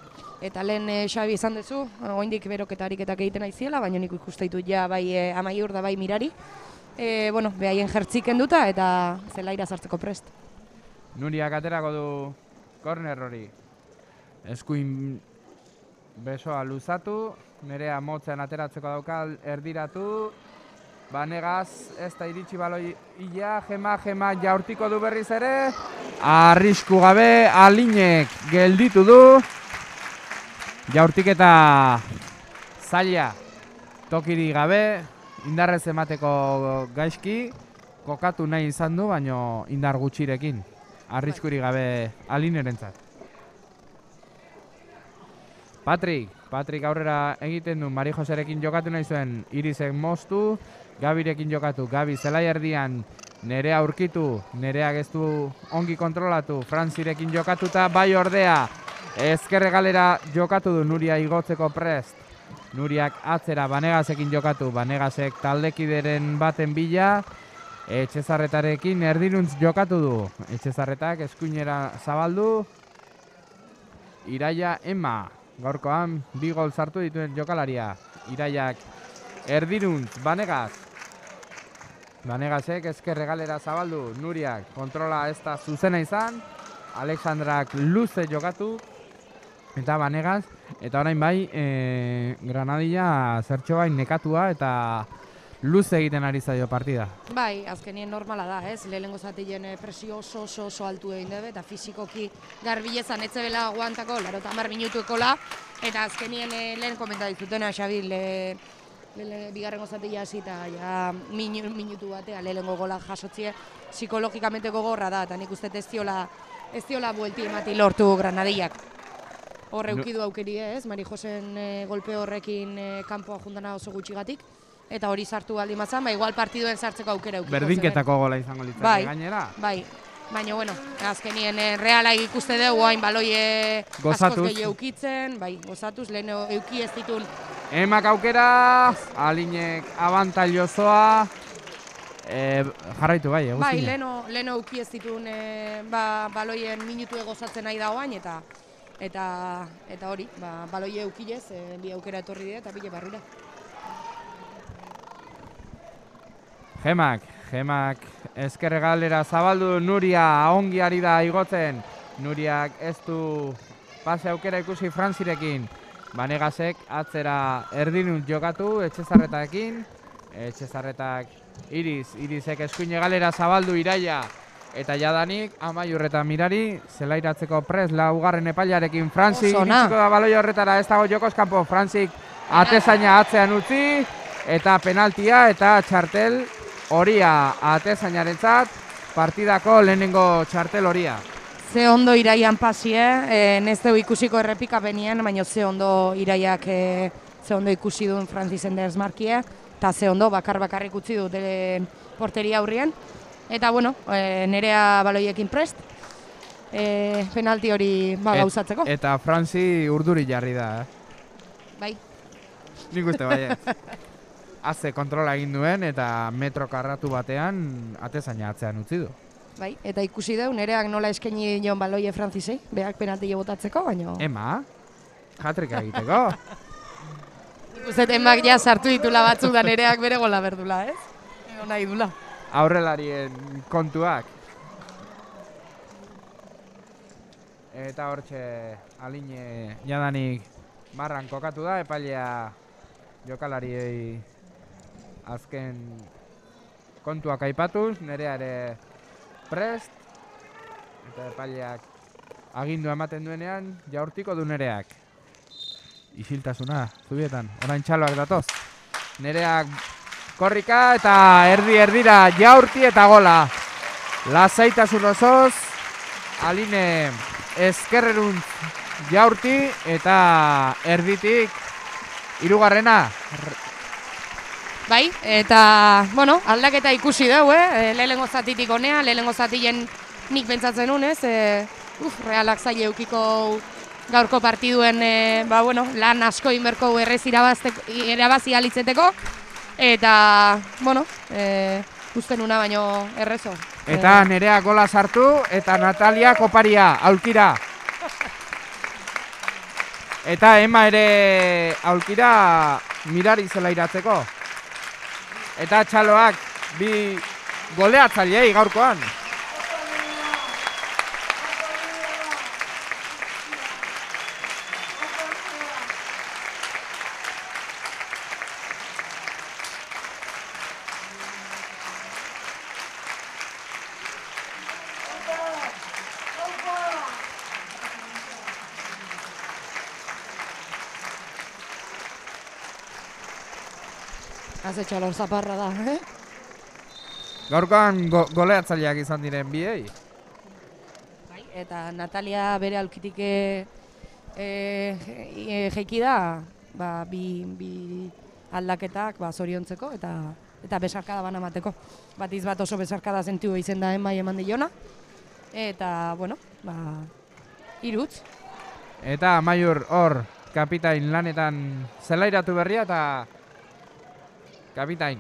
eta lehen e, Xabi izan duzu, oindik beroketarik eta egiten aiziela, baina nik ikusteitu ja bai e, Amaiur da bai Mirari, e, bueno, behaien jertzik enduta eta zelaira sartzeko prest.
Nuriak aterako du korner hori, eskuin besoa luzatu, Nerea motzean ateratzeko daukal erdiratu, Banegaz ez da iritsi baloi illa, Gema, Gema Jaurtiko du berriz ere, arrisku gabe, Alinek gelditu du, Jaurtik eta zaila tokiri gabe, indarrez emateko gaizki, kokatu nahi izan du, baino indar gutxirekin. Arriskuri gabe Alinerentzat. Patrik, Patrik aurrera egiten du, Mari Joserekin jokatu nahi zuen, Irisek moztu, Gabirekin jokatu, Gabi zelai erdian, Nerea aurkitu, Nereak ez du ongi kontrolatu, Frantzirekin jokatuta, bai ordea, ezkerre galera jokatu du Nuria igotzeko prest. Nuriak atzera Banegasekin jokatu, Banegasek taldekideren baten bila, Etxezarretarekin erdiruntz jokatu du. Etxezarretak eskuinera zabaldu, Iraia Ema, gaurkoan bi gol sartu dituen jokalaria. Iraiak erdiruntz, Banegas. Banegasek ezkerre galera zabaldu, Nuriak kontrola ez da zuzena izan, Alexandrak luze jokatu, eta Banegas, eta orain bai, e, Granadilla zertxo bain nekatua eta luze egiten ari zaio partida.
Bai, azkenien normala da, ez? Lehenengo zatilen presio oso oso oso altu egin debe, eta fizikoki garbilezan etzebela aguantako, laro eta hamar minutuekola, eta azkenien eh, lehen komenta dizutena, Xabi, le, le, bigarrengo zatila hasi eta ja, minu, minutu batea lehenengo gola jasotzie, psikologikamente gogorra da, eta nik uste ez diola, ez diola buelti emati lortu Granadillak. Hor eukidu aukeri ez, Mari Josen e, golpe horrekin e, kanpoa jundana oso gutxigatik, eta hori sartu aldi mazan, ba, igual partiduen sartzeko aukera eukiko.
Berdinketako gola izango litzake
bai,
gainera.
Bai, baina, bueno, azkenien e, reala ikuste dugu, hain baloie askoz gehiago eukitzen, bai, gozatuz, lehen euki ez ditun.
Emak aukera, Alinek abantaillozoa, e, jarraitu bai, eguzkina.
Bai, leheno, leheno euki ez ditun e, ba, baloien minutu egozatzen nahi dagoain, eta eta eta hori, ba, baloie eukilez, e, bi aukera etorri dira eta bile barrura.
Gemak, Gemak ezkerre galera zabaldu, Nuria ongi ari da igotzen. Nuriak ez du pase aukera ikusi Frantzirekin. Banegasek atzera erdinunt jokatu Etxezarretarekin. Etxezarretak Iris, Irisek eskuine galera zabaldu Iraia. Eta jadanik, Amaiur eta Mirari, zelairatzeko prest laugarren epailarekin Frantzik iritsiko da baloi horretara, ez dago jokoz kanpo, Frantzik atezaina atzean utzi, eta penaltia eta txartel horia atezainarentzat, partidako lehenengo txartel horia.
Ze ondo Iraian pasie, e, nezteu ikusiko errepikapenien, baina ze ondo Iraiak e, ze ondo ikusi duen Frantzizen derzmarkie, eta ze ondo bakar bakarrik utzi dut e, porteria aurrien. Eta, bueno, e, Nerea baloiekin prest, e, penalti hori ba, gauzatzeko.
Et, eta Frantzi urduri jarri da, eh?
Bai.
Nik uste bai ez. Aze kontrola egin duen eta metro karratu batean atezaina atzean utzi du.
Bai, eta ikusi deu, Nereak nola eskaini joan baloie Frantzisei, berak penalti botatzeko, baina...
Ema, jatrika egiteko.
Ikusten emak ja sartu ditula batzuk da Nereak bere gola berdula, ez? Ego nahi dula.
Aurrelarien kontuak. Eta hortxe Aline jadanik marran kokatu da, epailea jokalariei azken kontuak aipatuz, Nerea ere prest, eta epaileak agindu ematen duenean jaurtiko du Nereak. Isiltasuna, zubietan, orain txaloak datoz. Nereak korrika eta erdi erdira jaurti eta gola. Lasaitasun osoz, Aline ezkerreruntz jaurti eta erditik hirugarrena.
Bai, eta, bueno, aldaketa ikusi dugu, eh? Lehenengo zatitik honea, lehenengo zatien nik pentsatzen nunez, eh? Uf, Realak zaila eukiko gaurko partiduen, eh, ba, bueno, lan asko inberko errez irabazi alitzeteko, eta, bueno, eh, usten una baino errezo.
Eta Nerea gola sartu, eta Natalia koparia, aulkira. Eta Ema ere aulkira Mirari zela iratzeko. Eta txaloak bi goleatzailei gaurkoan.
Haze txalor zaparra da, eh?
Gaurkoan go goleatzaileak izan diren biei.
Bai, eta Natalia bere aulkitik e, e, jeiki da, ba, bi, bi aldaketak ba, zoriontzeko, eta eta besarkada bana mateko. Bat izbat oso besarkada zentiu izen da enbai eman diona, eta, bueno, ba, irutz.
Eta Amaiur hor, kapitain lanetan zelairatu berria eta kapitain.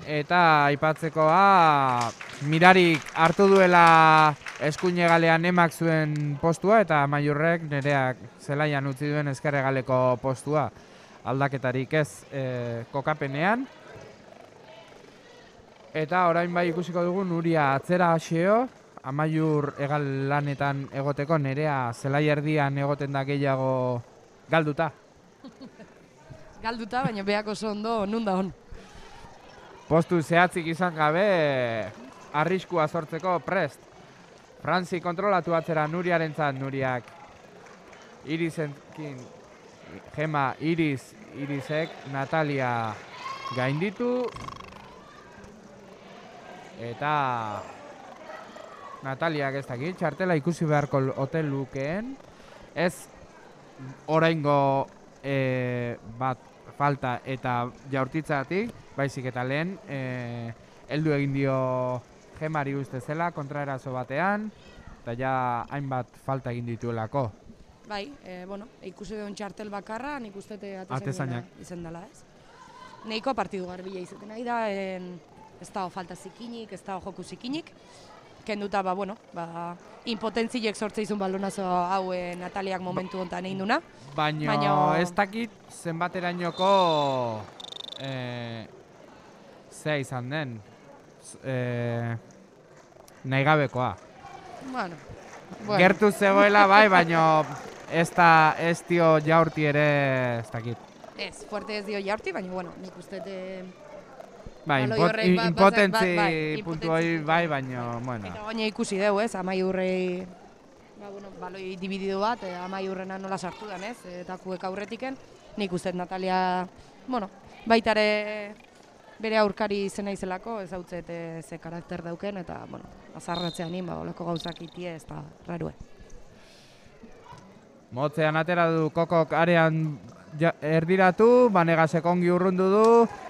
Eta aipatzekoa Mirarik hartu duela eskuinegalean emak zuen postua eta Amaiurrek nereak zelaian utzi duen ezkerregaleko postua. Aldaketarik ez e, kokapenean. Eta orain bai ikusiko dugu Nuria atzera haseo, Amaiur egal lanetan egoteko, nerea zelai erdian egoten da gehiago galduta.
Galduta, baina beak oso ondo nun da hon.
Postu zehatzik izan gabe, arriskua sortzeko prest. Frantzi kontrolatu atzera Nuriarentzat, Nuriak Irizenkin, Gema, Iris, Irisek, Natalia gainditu. Eta Nataliak ez dakit, txartela ikusi beharko hotel lukeen. Ez oraingo e, bat falta eta jaurtitzatik, baizik eta lehen, e, heldu egin dio Gemari uste zela, kontraerazo batean, eta ja hainbat falta egin dituelako.
Bai, e, bueno, ikusi duen txartel bakarra, nik uste
atezainak
izan dela, ez? Neiko partidu garbila izaten nahi da, en, ez dago falta zikinik, ez dago joku zikinik, kenduta, ba, bueno, ba, impotentziek sortze izun balonazo hau e, Nataliak momentu honetan egin duna.
Baina Baino... ez dakit zenbaterainoko e, zea izan den, e, nahi gabekoa.
Bueno, bueno.
Gertu zegoela bai, baina ez da ez dio jaurti ere ez dakit.
Ez, fuerte ez dio jaurti, baina, bueno, nik uste te...
Bai, impotentzi puntu hori bai, baina, bueno.
Eta baina ikusi dugu, ez, Amaiurrei, ba, bueno, baloi dibididu bat, e, Amaiurrena nola sartu den, ez, eta kuek aurretiken, nik uste Natalia, bueno, baitare bere aurkari izena izelako, ez hau ze, ze karakter dauken, eta, bueno, azarratzean nien, ba, olako gauzak itie, ez da, rarue.
Motzean atera du Kokok arean ja, erdiratu, Banegasek ongi urrundu du,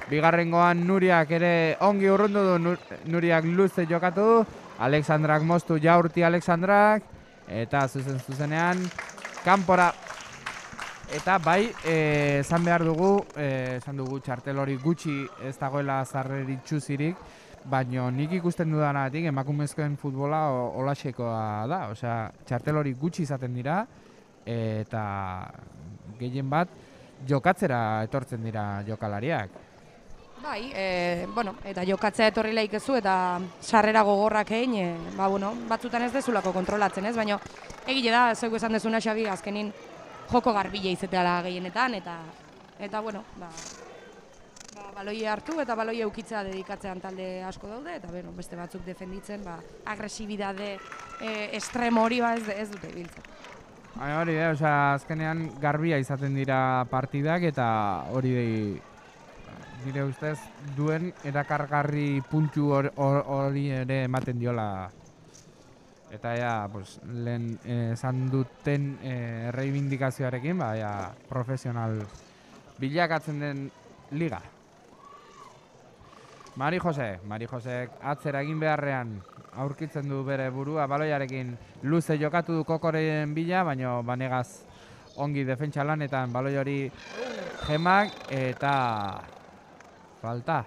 bigarrengoan Nuriak ere ongi urrundu du, Nur, Nuriak luze jokatu, Alexandrak moztu jaurti Alexandrak, eta zuzen zuzenean, kanpora. Eta bai, esan behar dugu, esan dugu txartel hori gutxi ez dagoela zarreritxuzirik, baina nik ikusten dudanatik emakumezkoen futbola olaxekoa da, osea, txartel hori gutxi izaten dira, eta gehien bat jokatzera etortzen dira jokalariak.
Bai, e, bueno, eta jokatzea etorri laikezu eta sarrera gogorrak egin, e, ba, bueno, batzutan ez dezulako kontrolatzen, ez? Baina egile da, zeuko esan dezuna Xabi, azkenin joko garbile izateala gehienetan, eta, eta bueno, ba, ba, baloi hartu eta baloi eukitzea dedikatzean talde asko daude, eta bueno, beste batzuk defenditzen, ba, agresibidade e, estremo hori ba, ez, ez dute biltzen.
Hori da, osea, azkenean garbia izaten dira partidak eta hori nire ustez duen erakargarri puntu hori ere ematen diola. Eta ja, pues, lehen esan duten e, reivindikazioarekin, ba, ja, profesional bilakatzen den liga. Mari Jose, Mari Josek atzera egin beharrean aurkitzen du bere burua baloiarekin luze jokatu du Kokoren bila, baina Banegaz ongi defentsa lanetan baloi hori Gemak eta falta.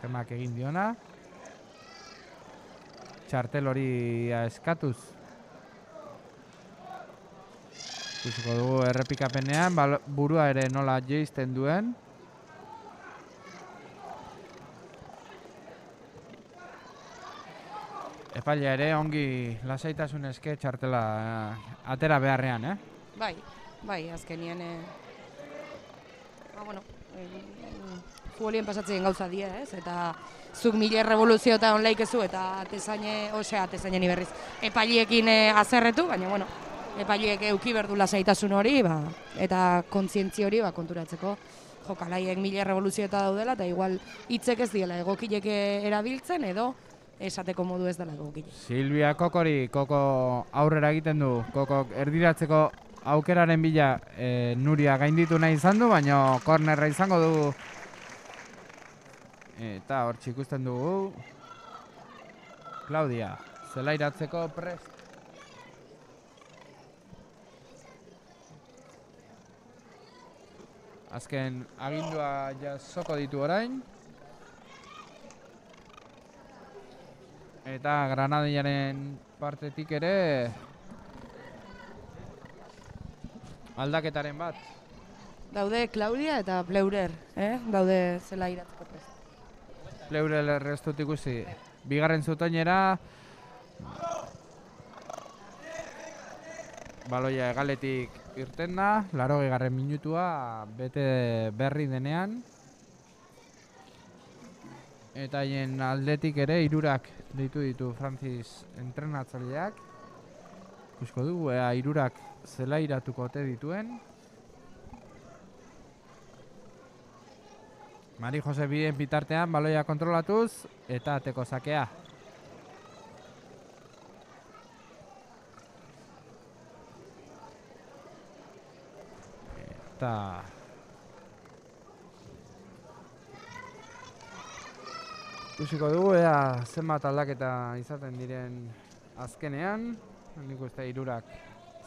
Gemak egin diona. Txartel hori eskatuz. Ikusiko dugu errepikapenean, burua ere nola jeizten duen. Epailea ere ongi lasaitasun eske txartela eh, atera beharrean, eh?
Bai, bai, azkenien, eh, ba, bueno, eh, futbolien pasatzen gauza die, ez? Eta zuk mila revoluzio eta onlaikezu eta atezaine, osea, atezaineni berriz, epailiekin eh, azerretu, baina, bueno, epaileek euki berdu lasaitasun hori, ba, eta kontzientzi hori, ba, konturatzeko jokalaiek mila revoluzio eta daudela, eta igual hitzek ez diela egokilek erabiltzen, edo esateko modu ez dela egokile.
Silvia Kokori, Koko aurrera egiten du, Koko erdiratzeko aukeraren bila e, Nuria gainditu nahi izan du, baina kornerra izango du Eta hor ikusten dugu Claudia, zelairatzeko prest. Azken agindua jasoko ditu orain. Eta Granadillaren partetik ere aldaketaren bat.
Daude Claudia eta Pleurer, eh? Daude zelairatzeko prest.
Pleurer ez dut ikusi. Bigarren zutoinera baloia egaletik irten da, laurogei garren minutua bete berri denean. Eta haien aldetik ere hirurak deitu ditu Francis entrenatzaileak. Ikusko dugu ea hirurak zelairatuko ote dituen. Mari Jose bien bitartean baloia kontrolatuz eta ateko sakea. Eta ikusiko dugu ea zenbat aldaketa izaten diren azkenean. Nik uste hirurak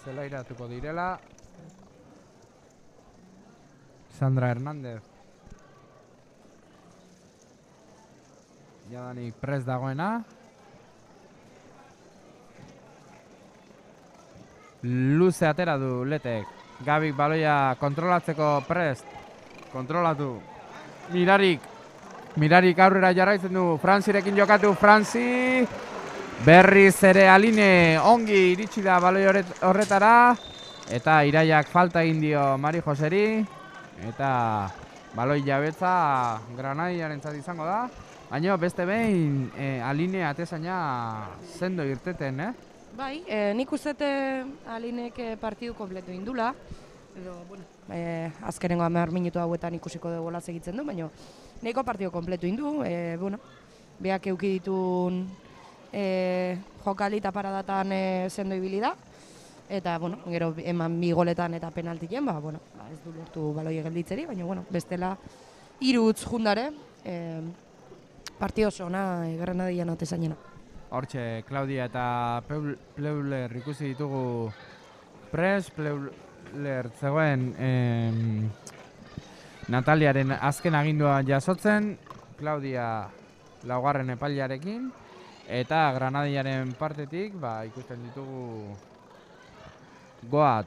zelairatuko direla. Sandra Hernández jadanik prest dagoena. Luze atera du Letek. Gabik baloia kontrolatzeko prest. Kontrolatu. Mirarik. Mirarik aurrera jarraitzen du. Frantzirekin jokatu. Frantzi. Berriz ere Aline ongi iritsi da baloi horretara. Eta Iraiak falta egin dio Mari Joseri. Eta baloi jabetza Granadillarentzat izango da. Baina beste behin e, Aline atezaina sendo irteten, eh?
Bai, e, nik uzete Alinek partidu kompletu indula. Edo, bueno, e, azkenengo hamar minutu hauetan ikusiko dugu gola segitzen du, baina nahiko partidu kompletu indu. E, bueno, beak euki ditun e, jokali eta paradatan e, sendo ibili da. Eta, bueno, gero eman bi goletan eta penaltien, ba, bueno, ez du lortu baloi gelditzeri, baina, bueno, bestela hiru utz jundare, e, partio oso ona Granadillan atezainena.
Hortxe, Claudia eta Pleuler ikusi ditugu pres, Pleuler zegoen em, Nataliaren azken agindua jasotzen, Claudia laugarren epailearekin, eta Granadillaren partetik ba, ikusten ditugu Goat,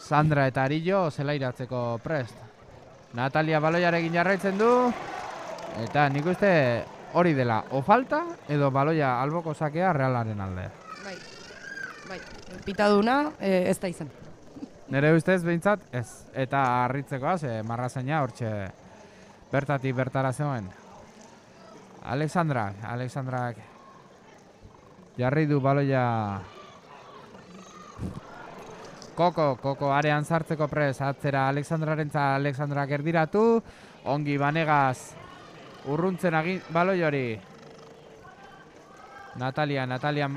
Sandra eta Arillo zelairatzeko prest. Natalia baloiarekin jarraitzen du, eta nik uste hori dela, o falta edo baloia alboko sakea Realaren alde.
Bai, bai, pitaduna e, ez da izan.
Nere ustez behintzat ez, eta harritzekoa, ze marrazaina hortxe bertatik bertara zegoen. Alexandrak, Alexandrak jarri du baloia Koko, Koko arean sartzeko pres, atzera Alexandrarentza, Alexandrak erdiratu, ongi Banegaz urruntzen agin baloi hori. Natalia, Natalia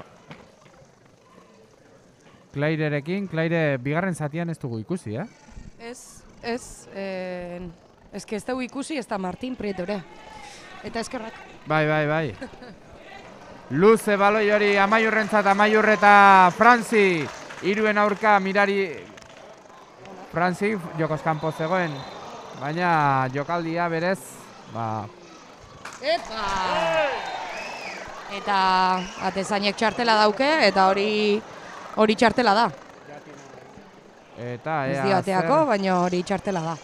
Clairerekin, Claire bigarren zatian ez dugu ikusi, eh?
Ez, ez, eh, ez que ez dugu ikusi, ez da Martin Prietore. Eta eskerrak.
Bai, bai, bai. Luze baloi hori Amaiurrentzat, Amaiurreta Frantzi, hiruen aurka Mirari Frantzi jokoz kanpo zegoen, baina jokaldia berez, ba...
Epa! Eta atezainek txartela dauke, eta hori hori txartela da.
Eta
ez dioteako, baina hori txartela da.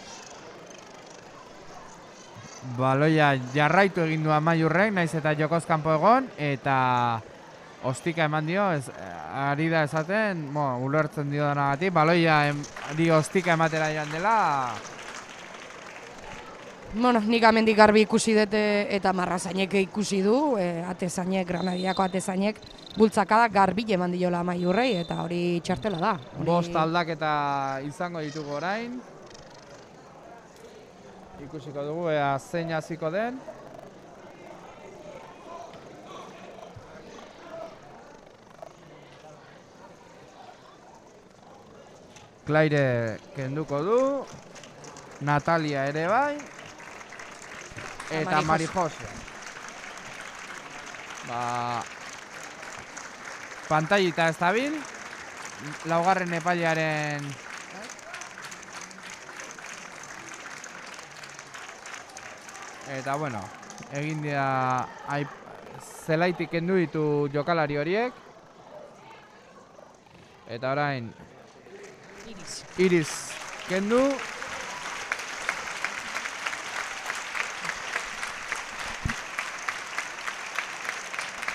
Baloia jarraitu egin du Amaiurrek, naiz eta jokoz kanpo egon, eta ostika eman dio, ez, ari da esaten, bo, ulertzen dio danagatik, baloia em, di ostika ematera joan dela.
Bueno, nik amendik garbi ikusi dute eta marrazainek ikusi du, e, atezainek, Granadiako atezainek, bultzakada garbi eman diola Amaiurrei, eta hori txartela da. Hori...
Bost aldaketa izango ditugu orain. Ikusiko dugu, ea zein hasiko den. Claire kenduko du. Natalia ere bai. eta Mari Jose. Ba, pantallita ez dabil, laugarren epailearen eta bueno, egin dira zelaitik kendu ditu jokalari horiek. Eta orain
Iris.
Iris kendu.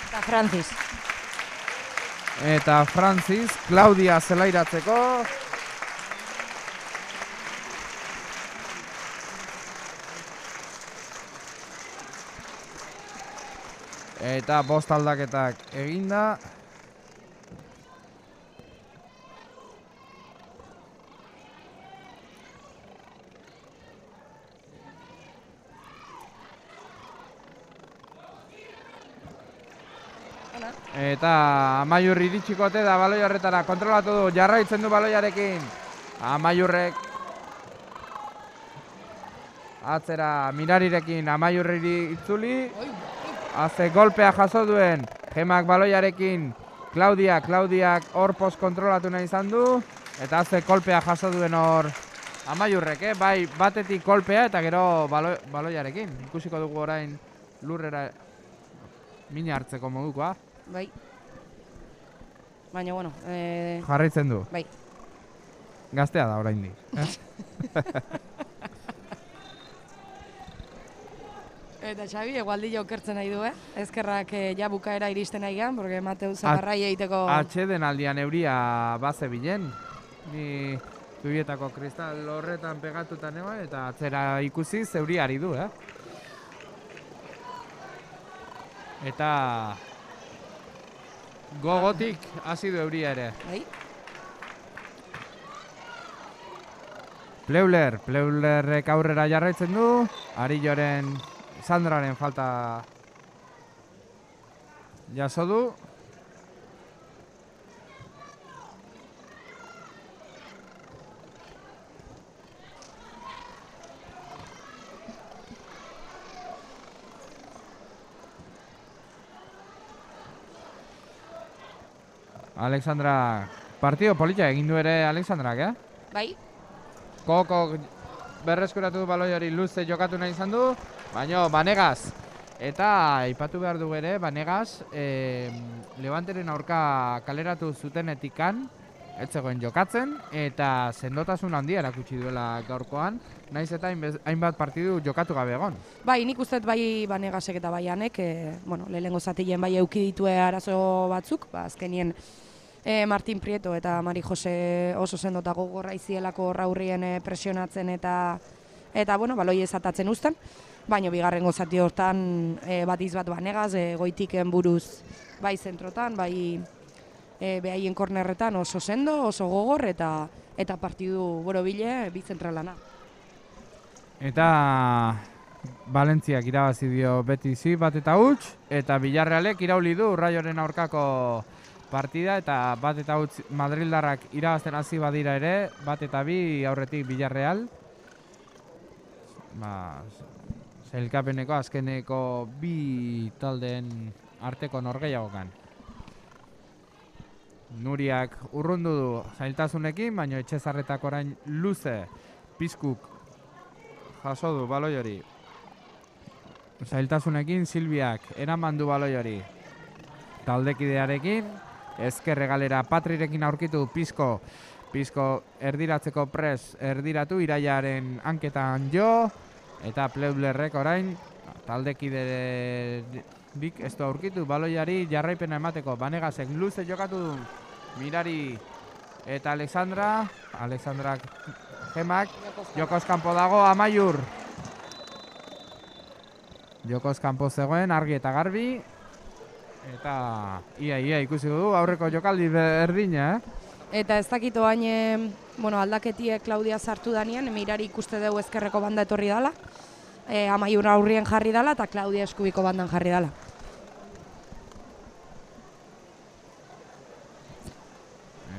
Eta Francis.
Eta Francis, Claudia zelairatzeko. Eta bost aldaketak eginda. Eta Amaiur iritsikote da baloi horretara, kontrolatu du, jarraitzen du baloiarekin. Amaiurrek atzera Mirarirekin Amaiurri itzuli. Haze golpea jaso duen, Gemak baloiarekin, Claudia, Claudiak hor post kontrolatu nahi izan du. Eta haze golpea jaso duen hor Amaiurrek, eh? Bai batetik kolpea eta gero balo, baloiarekin. Ikusiko dugu orain lurrera mina hartzeko modukoa.
Bai. Baina, bueno... Eh...
Jarraitzen du.
Bai.
Gaztea da oraindik.
Eta Xabi, egualdi okertzen nahi du, eh? Ezkerrak eh, ja bukaera iristen nahi gehan, porque Mateu zagarrai egiteko...
Atxeden aldian euria baze bilen. Ni zubietako kristal horretan pegatutan egon, eta atzera ikusi zeuri ari du, eh? Eta... gogotik hasi du euria ere.
Bai.
Pleuler, Pleulerrek aurrera jarraitzen du. Arilloren, Sandraren falta jaso du. Alexandra, partido polita egin du ere Alexandrak, eh?
Bai.
Koko berreskuratu du baloi hori luze jokatu nahi izan du, baina Banegas. Eta aipatu behar du ere, Banegas, eh, Levanteren aurka kaleratu zutenetikan, ez zegoen jokatzen, eta sendotasun handia erakutsi duela gaurkoan, naiz eta hainbat partidu jokatu gabe egon.
Bai, nik uste bai Banegasek eta bai Anek, e, bueno, lehenengo zatilen bai euki ditue arazo batzuk, ba, azkenien e, Martin Prieto eta Mari Jose oso sendota gogorra izielako raurrien e, presionatzen eta, eta bueno, baloi ezatatzen uzten, baina bigarrengo zati hortan e, bat izbat Banegas, e, goitiken buruz bai zentrotan, bai e, behaien kornerretan oso sendo, oso gogor eta eta partidu borobile bi zentralana.
Eta Valentziak irabazi dio Betizi bat eta huts, eta Villarrealek irauli du Raioren aurkako partida, eta bat eta huts Madrildarrak irabazten hasi badira ere, bat eta bi aurretik Villarreal. Ba, sailkapeneko azkeneko bi taldeen arteko norgehiagokan. Nuriak urrundu du zailtasunekin, baina Etxezarretak orain luze Pizkuk jaso du baloi hori. Zailtasunekin Silviak eraman du baloi hori taldekidearekin. Ezkerre galera Patrirekin aurkitu Pizko. Pizko erdiratzeko pres erdiratu Iraiaren hanketan jo. Eta Pleublerrek orain taldekiderik ez du aurkitu baloiari jarraipena emateko. Banegasek luze jokatu du Mirari eta Alexandra. Alexandrak Gemak, Jokoz kanpo dago Amaiur. Jokoz kanpo zegoen, argi eta garbi. Eta ia, ia ikusi du aurreko jokaldi berdina, eh?
Eta ez dakito hain, bueno, aldaketie Claudia sartu danean, Mirari ikuste dugu ezkerreko banda etorri dala. E, Amaiur aurrien jarri dala eta Claudia eskubiko bandan jarri dala.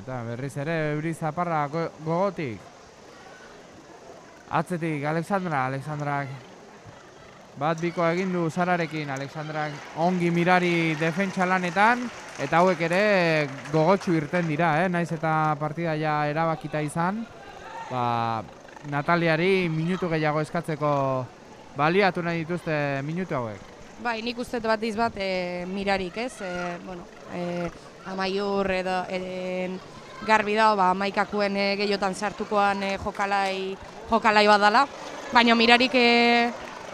Eta berriz ere euri zaparra go gogotik. Atzetik Alexandra, Alexandrak Bat biko egin du Sararekin, Alexandrak ongi mirari defentsa lanetan, eta hauek ere gogotsu irten dira, eh? Naiz eta partida ja erabakita izan, ba, Nataliari minutu gehiago eskatzeko baliatu nahi dituzte minutu hauek.
Bai, nik uste bat izbat e, mirarik, ez? E, bueno, e, amaiur edo e, garbi da, ba, amaikakuen e, gehiotan sartukoan e, jokalai, jokalai bat dela, baina mirarik e,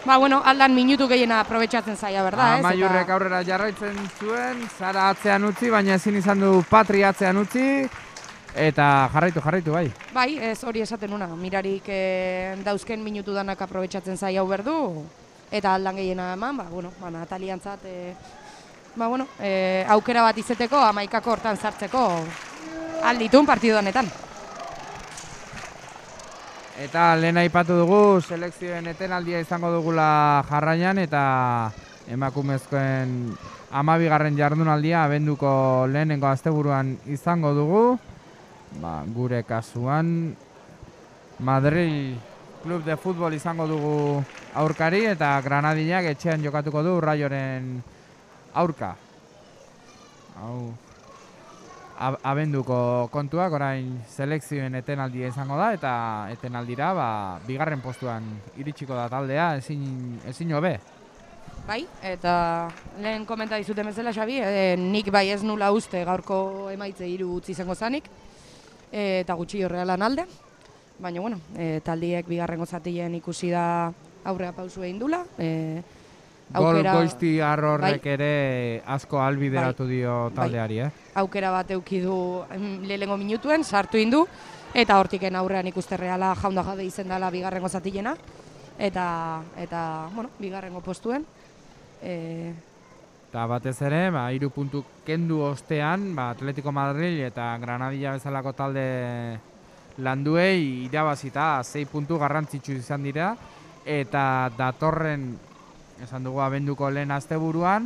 ba, bueno, aldan minutu gehiena aprobetxatzen zaila, berda, ez?
Amaiurrek aurrera jarraitzen zuen, Sara atzean utzi, baina ezin izan du Patri atzean utzi, eta jarraitu, jarraitu, bai.
Bai, ez hori esaten una, mirarik e, dauzken minutu danak aprobetxatzen zaila hau berdu, eta aldan gehiena eman, ba, bueno, ba, Nataliantzat, e, ba, bueno, e, aukera bat izeteko, amaikako hortan sartzeko alditun partidu honetan.
Eta lehen aipatu dugu, selekzioen etenaldia izango dugula jarraian, eta emakumezkoen hamabigarren jardunaldia abenduko lehenengo asteburuan izango dugu. Ba, gure kasuan Madrid Club de Futbol izango dugu aurkari, eta Granadillak etxean jokatuko du Rayoren aurka. Hau, abenduko kontuak, orain selekzioen etenaldia izango da, eta etenaldira ba, bigarren postuan iritsiko da taldea, ezin, ezin hobe.
Bai, eta lehen komenta dizuten bezala, Xabi, e, nik bai ez nula uste gaurko emaitze hiru utzi izango zanik, e, eta gutxi horrealan alde, baina, bueno, e, taldiek bigarrengo zatien ikusi da aurrea pausu egin dula. E,
Gol goizti arrorrek bai, ere asko albideratu bai, dio taldeari, eh?
Aukera bat euki du lehenengo minutuen, sartu indu, eta hortiken aurrean ikuste reala jaunda jabe izen dela bigarrengo zatilena, eta, eta bueno, bigarrengo postuen. E...
Eta batez ere, ba, hiru puntu kendu ostean, ba, Atletico Madrid eta Granadilla bezalako talde landuei irabazita sei puntu garrantzitsu izan dira, eta datorren, esan dugu abenduko lehen asteburuan,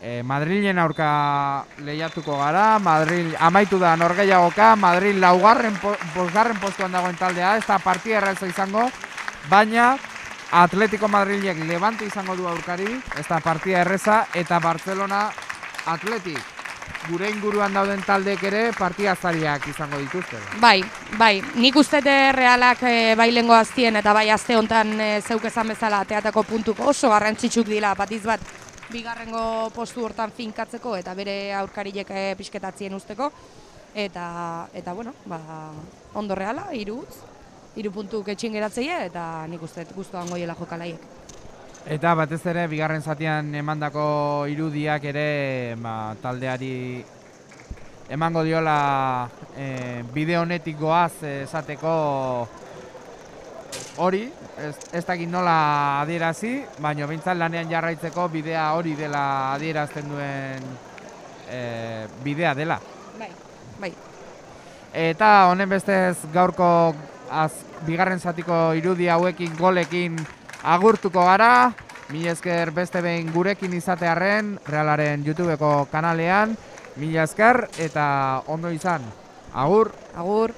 e, Madrilen aurka lehiatuko gara, Madrid amaitu da norgehiagoka, Madrid laugarren, bosgarren postuan dagoen taldea, ez da partida erraza izango, baina Atletico Madrilek Levante izango du aurkari, ez da partida erreza, eta Barcelona Atletik. Gure inguruan dauden taldeek ere partida zariak izango dituzte.
Bai, bai, nik ustete realak e, bai lengo aztien eta bai azte honetan e, zeuk esan bezala teatako puntuko oso garrantzitsuk dira batiz bat bigarrengo postu hortan finkatzeko eta bere aurkarilek e, pixketatzien usteko. Eta, eta bueno, ba, ondo reala, hiru utz, hiru puntuk etxin geratzeie eta nik uste guztuan goiela jokalaiek.
Eta batez ere, bigarren zatian emandako irudiak ere ba, taldeari emango diola e, bide honetik goaz esateko hori, ez, ez dakit nola adierazi, baina behintzat lanean jarraitzeko bidea hori dela adierazten duen e, bidea dela.
Bai, bai.
Eta honen bestez gaurko az, bigarren zatiko irudi hauekin golekin agurtuko gara, mila esker beste behin gurekin izatearren, Realaren YouTubeko kanalean, mila esker eta ondo izan. Agur!
Agur!